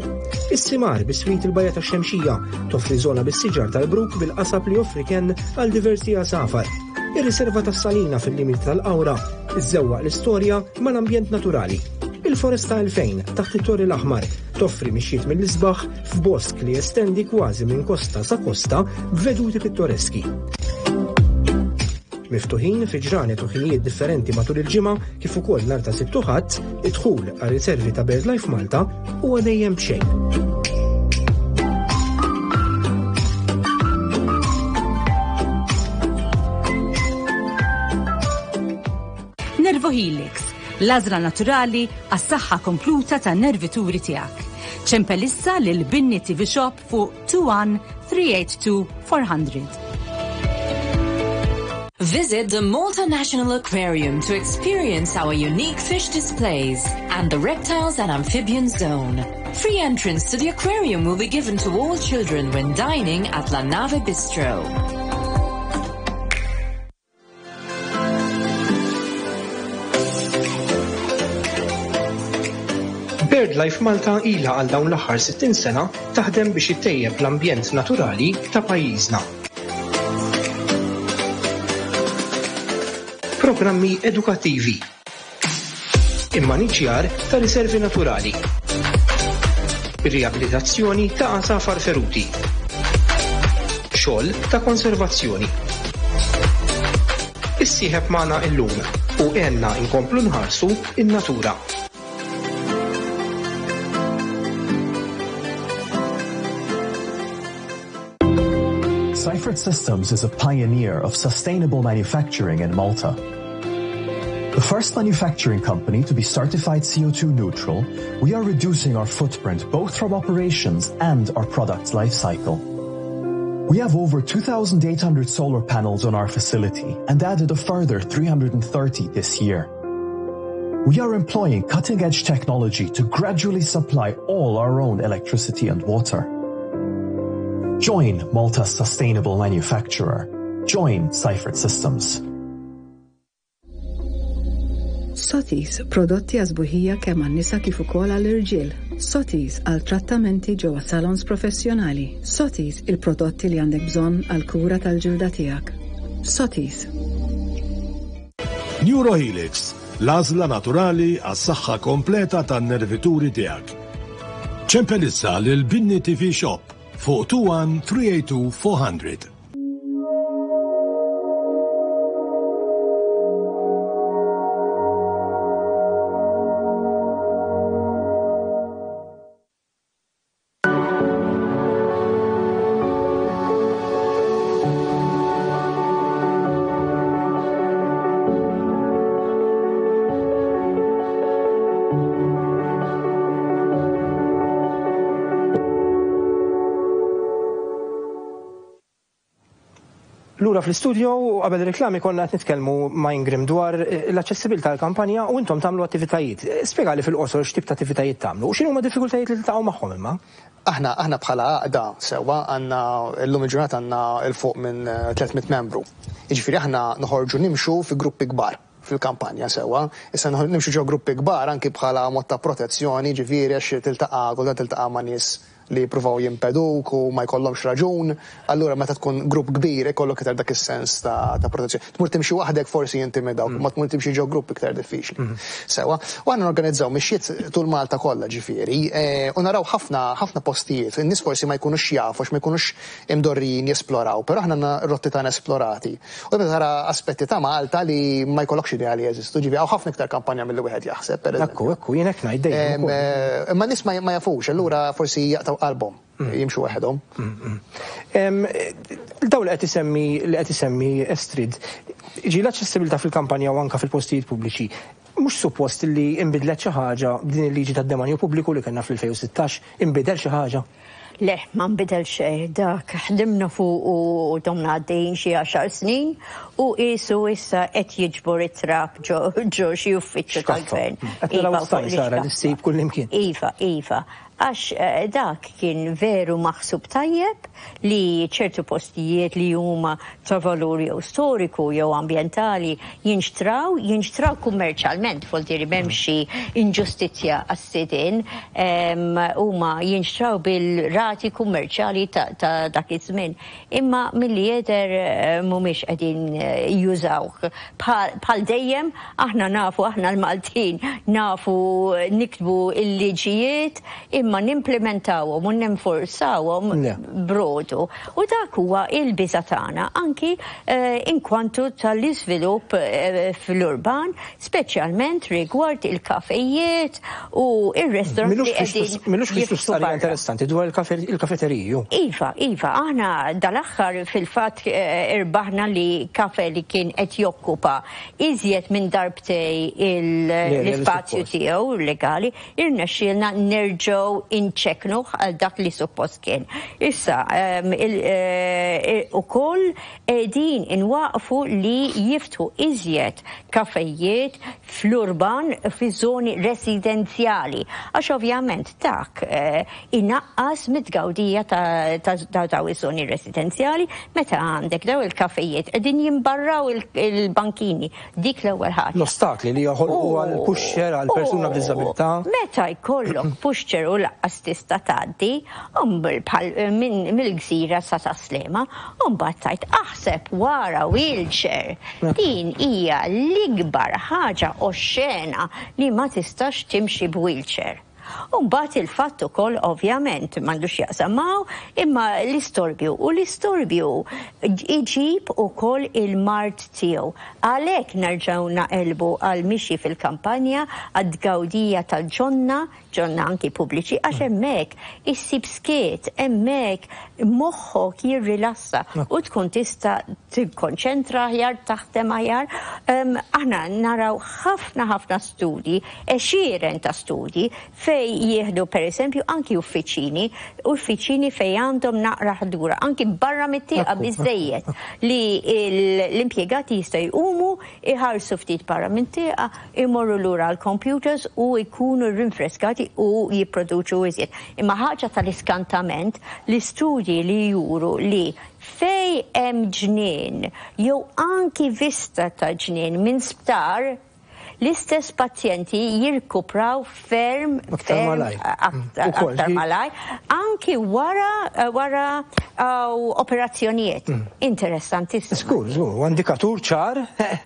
[SPEAKER 1] Is-Simar biswit il-Bajja tax-Xemxija toffri żona bis-siġar tal-bruk bil-qasab li joffri kenn għal diversi għasafar. Ir-riserva tas-Salina fil-limiti tal-Qawra iżżewwaq l-istorja mal-ambjent naturali. Il-Foresta elfejn taħt it-Torri l-Aħmar toffri mixjiet mill-isbaħ f'bosk li jestendi kważi minn kosta sa kosta b'veduti pittoreski. Miftuħin fi ġranet u ħinijiet differenti matul il-ġimgħa kif ukoll nhar ta' Sibt u Ħadd, id-dħul għar riservi ta' BirdLife Malta huwa dejjem b'xejn.
[SPEAKER 18] Nervohelix, l-għażla naturali għas-saħħa kompluta tan-nervituri tiegħek. Ċempel issa lil Binni T V Shop fuq two one three eight two four hundred.
[SPEAKER 6] Visit the Malta National Aquarium to experience our unique fish displays and the reptiles and amphibian zone. Free entrance to the aquarium will be given to all children when dining at La Nave Bistro.
[SPEAKER 1] BirdLife Malta ilha għal dawn l-aħħar sittin sena taħdem biex ittejjeb l-ambjent naturali ta' pajjiżna. Programmi edukattivi, immaniġjar ta' riservi naturali, riabilitazzjoni ta' għasafar feruti, xogħol ta' konservazzjoni. Issieħeb magħna illum u għenna nkomplu nħarsu in-natura.
[SPEAKER 12] Seifert Systems is a pioneer of sustainable manufacturing in Malta. The first manufacturing company to be certified C O two neutral, we are reducing our footprint both from operations and our product's life cycle. We have over two thousand eight hundred solar panels on our facility and added a further three hundred and thirty this year. We are employing cutting-edge technology to gradually supply all our own electricity and water. Join Malta's sustainable manufacturer. Join Seifert Systems.
[SPEAKER 14] Sotis, prodotti għażbuħija kemm għan-nisa kif ukoll għall-irġiel. Sotis għal trattamenti ġewwa salons professjonali. Sotis, il-prodotti li għandek bżonn għal kura tal-ġilda tiegħek. Sotis.
[SPEAKER 13] Neurohelix, l-għażla naturali għas-saħħa kompleta tan-nervituri tiegħek. Ċempel issa lil Binni T V Shop fuq two one three eight two four hundred.
[SPEAKER 1] Lura fl-istudio u qabel reklami konna qed nitkellmu ma' Ingrim dwar l-aċċessibilità tal-kampanja u intom tagħmlu attivitajiet. Spjegali fil-qosor x'tip ta' attivitajiet tagħmlu u x'inhuma diffikultajiet li tiltaqgħu magħhom imma?
[SPEAKER 21] Aħna, aħna bħala għaqda sewwa għandna llum il-ġurnata għandna 'l fuq minn tliet mitt membru. Jiġifieri aħna noħorġu nimxu fi gruppi kbar fil-kampanja sewwa. Issa noħor-, nimxu ġo gruppi kbar anki bħala mod ta' protezzjoni, ġifieri għax tiltaqa' kultant tiltaqa' ma' nies li jippruvaw jimpeduk u ma jkollhomx raġun, allura meta tkun grupp kbir ikollok iktar dak is-sens ta', ta' protezzjoni. Tmur timxi waħdek forsi jintimidawk, ma tmur timxi ġo grupp iktar diffiċli.
[SPEAKER 1] Mm.
[SPEAKER 21] Sewwa, u aħna norganizzaw mixjiet tul Malta kollha ġifieri, e, u naraw ħafna, ħafna postijiet, in-nies forsi ma jkunux jafu għax ma jkunux imdorrijin jesploraw, però aħna għandna rotti tagħna esplorati. U meta tara aspetti ta' Malta li ma jkollokx idea li jeżistu, ġifieri hawn ħafna iktar kampanja milli wieħed jaħseb, per eżempju.
[SPEAKER 1] Ekku, ekku, jien hekk ngħid dejjem
[SPEAKER 21] Em,
[SPEAKER 1] ukoll.
[SPEAKER 21] eh, Imma n-nies ma, ma jafux, allura forsi jaqtgħu qalbhom,
[SPEAKER 1] Mm.
[SPEAKER 21] jimxu waħedhom.
[SPEAKER 1] Mm, mm. Em, daw li qed isemmi, li qed isemmi Estrid, ġi l-aċċessibilità fil-kampanja u anke fil-postijiet pubbliċi, mhux suppost li inbidlet xi ħaġa b'din il-liġi tad-demanju pubbliku li kellna fl-elfejn u sittax, inbidel xi ħaġa?
[SPEAKER 22] Le, ma nbidel xejn, dak ħdimna fuq u domna għaddejjin xi għaxar snin u qisu issa qed jiġbor it-trab ġo xi uffiċċju tal-gvern.
[SPEAKER 1] Qed naraw staj Sara li ssib kullimkien.
[SPEAKER 22] Iva, iva. Għax dak kien veru maħsub tajjeb li ċertu postijiet li huma ta' valur jew storiku jew ambjentali jinxtraw, jinxtraw kummerċjalment, voltieri m'hemmx xi inġustizzja għas-sidien, huma jinxtraw bil-rati kummerċjali ta' dak iż-żmien. Imma milli jidher mhumiex qegħdin jużawh. Bħal dejjem aħna nafu, aħna l-Maltin nafu niktbu l-liġijiet, imma nimplementawhom u ninforzawhom brodu. U dak huwa il-biża' tagħna anki inkwantu tal-iżvilupp fl-urban, speċjalment rigward il-kafejiet u ir-restaurants li qegħdin.
[SPEAKER 1] Milux li barra. Interessanti dwar il-kafeteriji.
[SPEAKER 22] Iva, iva, aħna dal-aħħar fil-fatt irbaħna li kafe li kien qed jokkupa iżjed minn darbtej l-ispazju tiegħu legali, irnexxielna nerġgħu inċeknuh għal dak li suppost kien. Issa, ukoll qegħdin inwaqfu li jiftħu iżjed kafejiet fl-urban fi żoni residenzjali. Għax ovvjament dak inaqqas mit-tgawdija ta' daw iż-żoni residenzjali meta għandek daw il-kafejiet qegħdin jimbarraw il-bankini. Dik l-ewwel ħaġa.
[SPEAKER 1] L-ostakli li joħolqu għal pushchair għal persuna b'diżabilità.
[SPEAKER 22] Meta jkollok pushchair u laqqas tista' tgħaddi mill-gżira sa Tas-Sliema, u mbagħad tgħid aħseb wara wheelchair. Din hija l-ikbar ħaġa oxxena li ma tistax timxi b'wheelchair. U mbagħad il-fatt ukoll ovvjament m'għandux jaqsam maw, imma l-istorbju, u l-istorbju iġib ukoll il-mard tiegħu. Għalhekk nerġgħu naqelbu għal mixi fil-kampanja, għad-gawdija tal-ġonna, ġonna anki pubbliċi, għax hemmhekk issib skiet, hemmhekk moħħok jirrilassa u tkun tista' tikkonċentra aħjar, taħdem aħjar. Aħna naraw ħafna ħafna studji, għexieren ta' studji fej jieħdu per eżempju anki uffiċini, uffiċini fej għandhom naqra ħdura, anki barra mit-tieqa biżejjed li l-impjegati jistgħu jqumu, iħarsu ftit barra mit-tieqa, imorru lura għall-computers u jkunu rinfreskati u jipproduċu iżjed. Imma ħaġa tal-iskantament, l-istudji li juru li fej hemm ġnien jew anki vista ta' ġnien minn sptar, l-istess pazjenti jirkupraw ferm aktar malaj, anki wara wara operazzjonijiet. Interessantissimo.
[SPEAKER 1] Skur, żgur, u indikatur ċar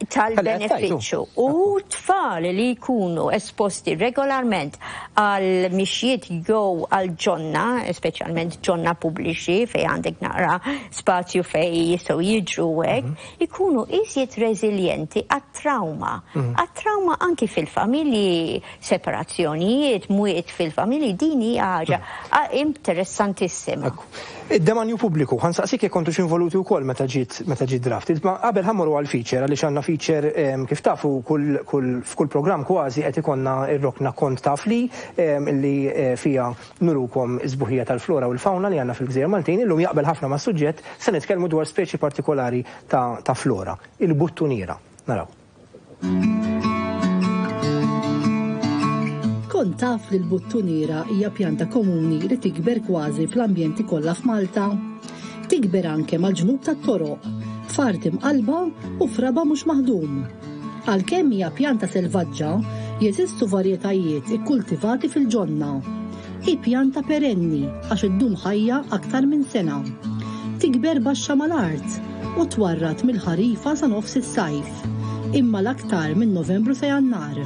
[SPEAKER 22] tal-benefiċċju. U tfal li jkunu esposti regolarment għal mixjiet jew għal ġonna, speċjalment ġonna pubbliċi fej għandek naqra spazju fej jistgħu jiġru hekk, ikunu iżjed reżiljenti għat-trauma. Għat-trauma anki fil-familji, separazzjonijiet, mwiet fil-familji, din hija ħaġa interessantissima.
[SPEAKER 1] Id-demanju pubbliku, ħansaqsik jekk kontux involuti wkoll meta ġiet meta ġiet draft. Ma qabel ħammorru għal feature għaliex għandna feature kif tafu f'kull programm kważi qed ikollna r-rokna kont taf li li fiha nurukom is-sbuħija tal-flora u l-fauna li għandna fil-Gżejjer Maltin. Illum jaqbel ħafna mas-suġġett, se nitkellmu dwar speċi partikolari ta' flora, il-buttuniera. Naraw.
[SPEAKER 5] Kont taf li l-buttuniera hija pjanta komuni li tikber kważi fl-ambjenti kollha f'Malta. Tikber anke mal-ġnub tat-toroq, f'art imqalba u f'raba mhux maħdum. Għalkemm hija pjanta selvaġġa, jeżistu varjetajiet ikkultivati fil-ġonna. Hi pjanta perenni għax iddum ħajja aktar minn sena. Tikber baxxa mal-art u twarrat mill-ħarifa sa nofs is-sajf, imma l-aktar minn Novembru sa Jannar.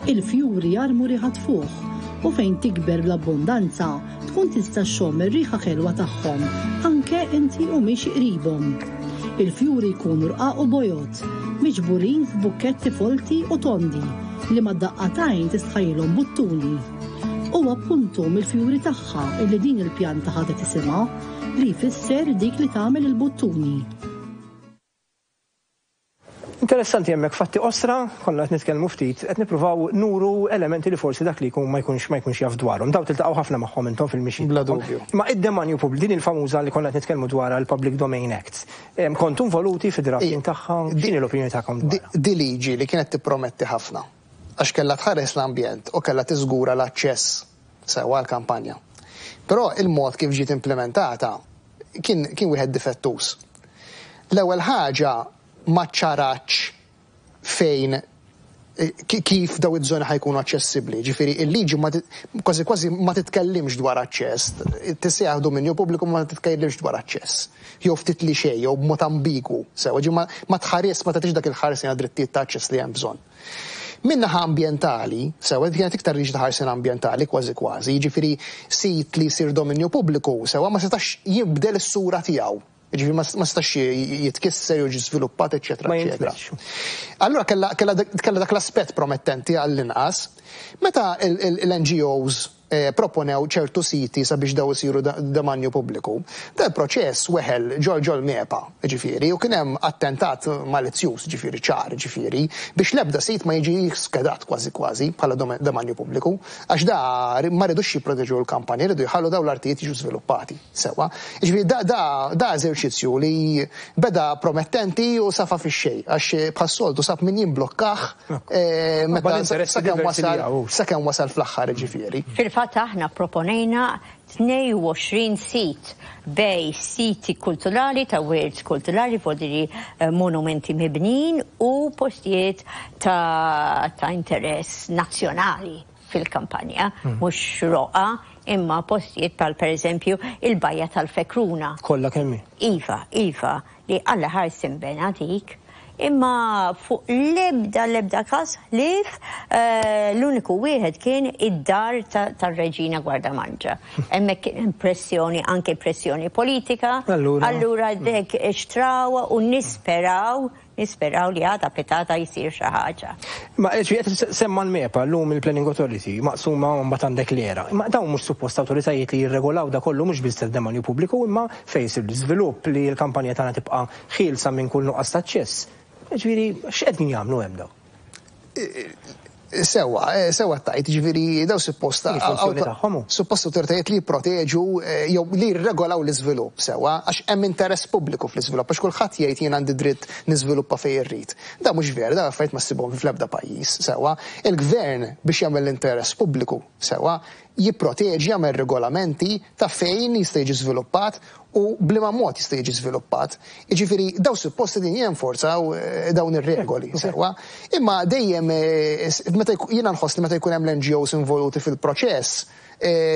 [SPEAKER 5] Il-fjuri jarmu riħa tfuħ u fejn tikber bl-abbondanza tkun tista' xxomm ir-riħa ħelwa tagħhom anke inti u mhix qribhom. Il-fjuri jkunu rqaq u bojod, miġburin f'bukketti folti u tondi li mad-daqqatajn tistħajilhom buttuni. U appuntu mill-fjuri tagħha illi din il-pjanta ħadet isimha li jfisser dik li tagħmel il-buttuni.
[SPEAKER 1] Interessanti hemmhekk fatti osra, konna qed nitkellmu ftit, qed nippruvaw nuru elementi li forsi dak li jkun ma jkunx ma jkunx jaf dwarhom. Daw tiltaqgħu ħafna magħhom intom fil-mixi.
[SPEAKER 21] Bla dubju.
[SPEAKER 1] Ma id-demanju pubbliku, din il-famuża li konna qed nitkellmu dwarha l-Public Domain Act. Kontu involuti fid-drafting tagħha, x'inhi l-opinjoni tagħkom dwarha?
[SPEAKER 21] Di liġi li kienet tipprometti ħafna għax kellha tħares l-ambjent u kellha tiżgura l-aċċess sewwa għall-kampanja. Però il-mod kif ġiet implementata kien kien wieħed difettuż. L-ewwel ħaġa ma ċarax fejn kif daw iż-żoni ħa jkunu aċċessibbli. Ġifieri il-liġi kważi kważi ma titkellimx dwar aċċess, tissejjaħ dominju pubbliku ma titkellimx dwar aċċess. Jew ftit li xejn, jew b'mod ambigwu, sewa ġi ma tħares ma tagħtix dak il-ħarsien għad-drittijiet ta' aċċess li hemm bżonn. Min-naħa ambjentali, sewa kienet iktar liġi ta' ħarsien ambjentali kważi kważi, jiġifieri sit li jsir dominju pubbliku, sewa ma setax jibdel is-sura tiegħu. Ġifieri ma setax jitkisser jew jiġi żviluppat, eċetera, eċetera. Allura kellha dak l-aspett promettenti għall-inqas. Meta l-N G Os proponew ċertu siti sabiex daw isiru demanju pubbliku, da l-proċess weħel ġol ġol MEPA, ġifieri, u kien hemm attentat malizzjuż, ġifieri ċar, ġifieri, biex l-ebda sit ma jiġi skedat kważi kważi bħala demanju pubbliku, għax da ma ridux jipproteġu l-kampanja, ridu jħallu daw l-artijiet jiġu żviluppati sewwa. Ġifieri da, da, da eżerċizzju li beda promettenti u safa fix-xejn, għax bħas-soltu sab min jimblokkah meta sakemm wasal sakemm wasal fl-aħħar, ġifieri.
[SPEAKER 22] Fil-fatt aħna proponejna tnejn u għoxrin sit bej siti kulturali ta' wirt kulturali, vodiri monumenti mibnin u postijiet ta', ta' interess nazzjonali fil-kampanja, mhux roqa, imma postijiet pal per eżempju il-Bajja tal-Fekruna.
[SPEAKER 1] Kollha kemm hi?
[SPEAKER 22] Iva, iva, li Alla ħares imbena dik. Imma fuq l-ebda l-ebda każ ħlief l-uniku wieħed kien id-dar tar-Reġina Gwardamanġa. Hemmhekk kien pressjoni, anke pressjoni politika. Allura dek xtraw u nisperaw, nisperaw li għada petata jsir xi ħaġa.
[SPEAKER 1] Ma qed semma l-MEPA llum il-Planning Authority maqsuma mbagħad għandek l-era. Ma dawn mhux suppost awtoritajiet li jirregolaw da kollu mhux biss tad-demanju pubbliku imma fejn isir l-iżvilupp li l-kampanja tagħna tibqa' ħielsa minn kull nuqqas ta' aċċess. Ġifieri, x'qegħdin jagħmlu hemm daw?
[SPEAKER 21] Sewa, sewa tajt, ġifieri daw suppost suppost awtoritajiet li jipproteġu jew li jirregolaw l-iżvilupp sewa, għax hemm interess pubbliku fl-iżvilupp, għax kulħadd jgħid jien għandi dritt niżviluppa fejn irrid. Da mhux vera, da affarijiet ma ssibhom fl-ebda pajjiż, sewa. Il-gvern biex jagħmel l-interess pubbliku sewa jipproteġi, jagħmel regolamenti ta' fejn jista' jiġi żviluppat u bliema mod jista' jiġi żviluppat. Jiġifieri daw suppost din jenforzaw dawn ir-regoli sewwa. Imma dejjem meta jiena nħoss li meta jkun hemm l-N G Os involuti fil-proċess,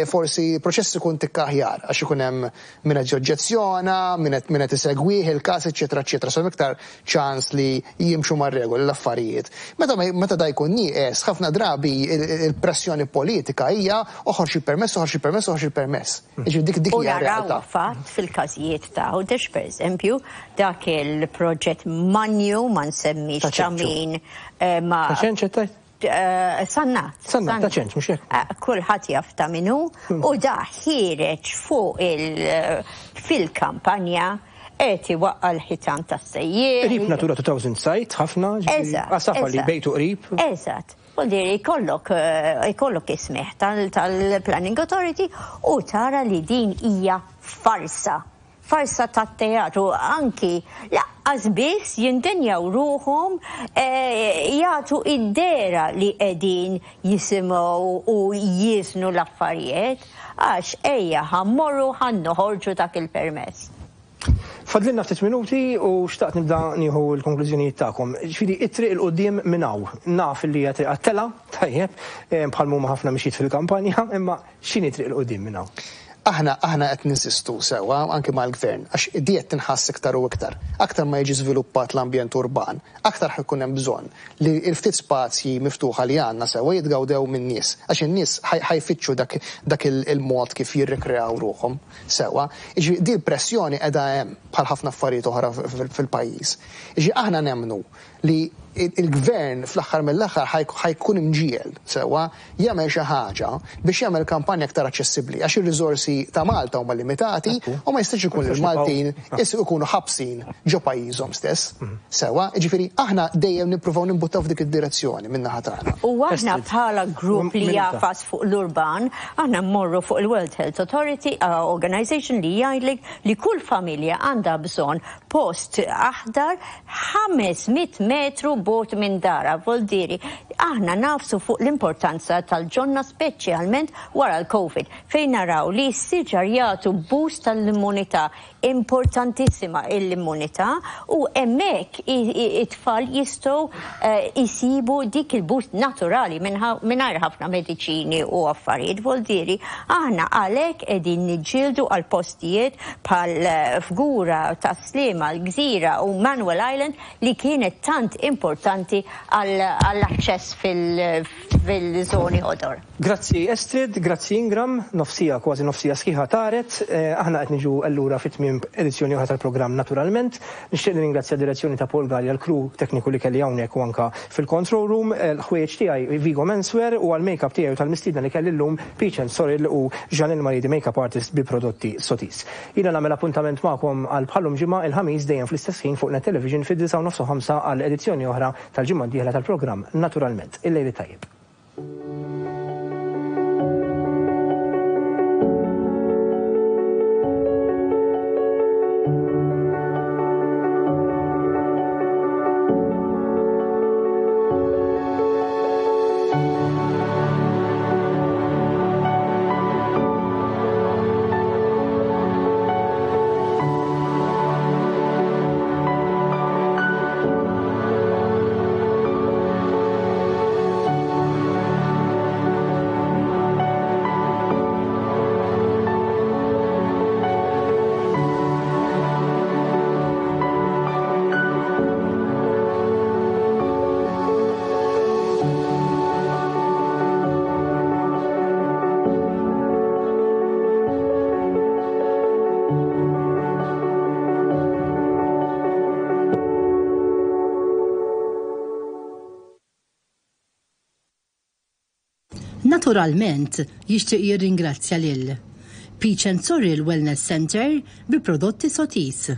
[SPEAKER 21] forsi proċess ikun tikka aħjar għax ikun hemm min qed joġġezzjona, min qed isegwih il-każ, eċetera, eċetera. So hemm iktar ċans li jimxu mar-regoli l-affarijiet. Meta meta da jkun nieqes, ħafna drabi il-pressjoni politika hija oħroġ il-permess, oħroġ il-permess, oħroġ il-permess. Jiġifieri dik dik hija realtà.
[SPEAKER 22] U naraw fatt fil-każijiet ta' Għawdex, pereżempju, dak il-proġett Manju ma nsemmix ta' min ma.
[SPEAKER 1] Ta' ċenċ qed tgħid?
[SPEAKER 22] Sannat.
[SPEAKER 1] Sannat, ta' ċenċ, mhux hekk.
[SPEAKER 22] Kulħadd jaf ta' min hu u da ħiereġ fuq il fil-kampanja qed iwaqqa' l-ħitan tas-sejjieħ.
[SPEAKER 1] Qrib Natura two thousand site, ħafna, għasafa li bejtu qrib.
[SPEAKER 22] Eżatt. Vuol ikollok ikollok ismeħ tal-Planning Authority u tara li din hija farsa. Farsa tat-teatru, anki laqqas biss jindenjaw ruħhom jagħtu id-dera li qegħdin jisimgħu u jiżnu l-affarijiet għax ejja ħammorru ħa noħorġu dak il-permess.
[SPEAKER 1] Fadlilna ftit minuti u xtaqt nibda nieħu l-konklużjonijiet tagħkom. Ġifieri it-triq il quddiem minn hawn. Naf li hija triq għat-tela, tajjeb, bħal huma ħafna mxiet fil-kampanja, imma x'inhi triq il quddiem minn hawn?
[SPEAKER 21] Aħna aħna qed ninsistu sewwa anke mal-gvern għax di qed tinħass iktar u iktar. Aktar ma jiġi żviluppat l-ambjent urban, aktar ħajkun hemm bżonn li l-ftit spazji miftuħa li għandna sewwa jitgawdew min-nies għax in-nies ħajfittxu dak dak il-mod kif jirrikreaw ruħhom sewwa. Jiġifieri di l-pressjoni qiegħda hemm bħal ħafna affarijiet oħra fil-pajjiż. Jiġifieri aħna nemmnu li il-gvern fl-aħħar mill-aħħar ħa jkun imġiegħel sewwa jagħmel xi ħaġa biex jagħmel kampanja aktar aċċessibbli, għax ir-riżorsi ta' Malta huma limitati u ma jistax ikun il-Maltin ikunu ħabsin ġo pajjiżhom stess. Sewwa, jiġifieri aħna dejjem nippruvaw nimbuttaw f'dik id-direzzjoni min-naħa tagħna.
[SPEAKER 22] U aħna bħala grupp li jagħfas fuq l-urban, aħna mmorru fuq il-World Health Authority uh, Organization li jgħidlek li kull familja għandha bżonn post aħdar ħames mitt metru bogħod minn darha. Voldiri, aħna nagħfsu fuq l-importanza tal-ġonna, speċjalment wara l-Covid, fejn naraw li s-siġar jagħtu boost tal-immunità, importantissima l-immunità, u hemmhekk it-tfal jistgħu jisibu dik il-boost naturali mingħajr ħafna mediċini u affarijiet. Voldiri, aħna għalhekk qegħdin niġġieldu għal postijiet bħal Fgura, Tas-Sliema, l-Gżira u Manuel Island, li kienet tant importanti għall-aċċess fil-żoni ħodor.
[SPEAKER 1] Grazzi Estrid, grazzi Ingram, nofs siegħa, kważi nofs siegħa sħiħa taret, aħna qed niġu allura fit-tmiem edizzjoni oħra tal-programm Naturalment. Nixtieq nirringrazzja direzzjoni ta' Paul Gallia, l-crew tekniku li kelli hawnhekk u anka fil-control room, l-ħwejjeġ tiegħi Vigo Menswear u għal-makeup tiegħi u tal-mistiedna li kelli llum Peach and Sorrel u Janelle Maridi, makeup artist bi prodotti Sotis. Jiena nagħmel appuntament magħkom għal bħal-lum ġimgħa, il-Ħamis, dejjem fl-istess ħin fuq Net Television fid-disgħa u nofs ħamsa għal edizzjoni oħra tal-ġimgħa d-dieħla tal-programm Naturalment. Il-lejli tajjeb.
[SPEAKER 5] Naturalment, jixtieq jirringrazzja lil Peach and Sorrel Wellness Center bi prodotti Sotis.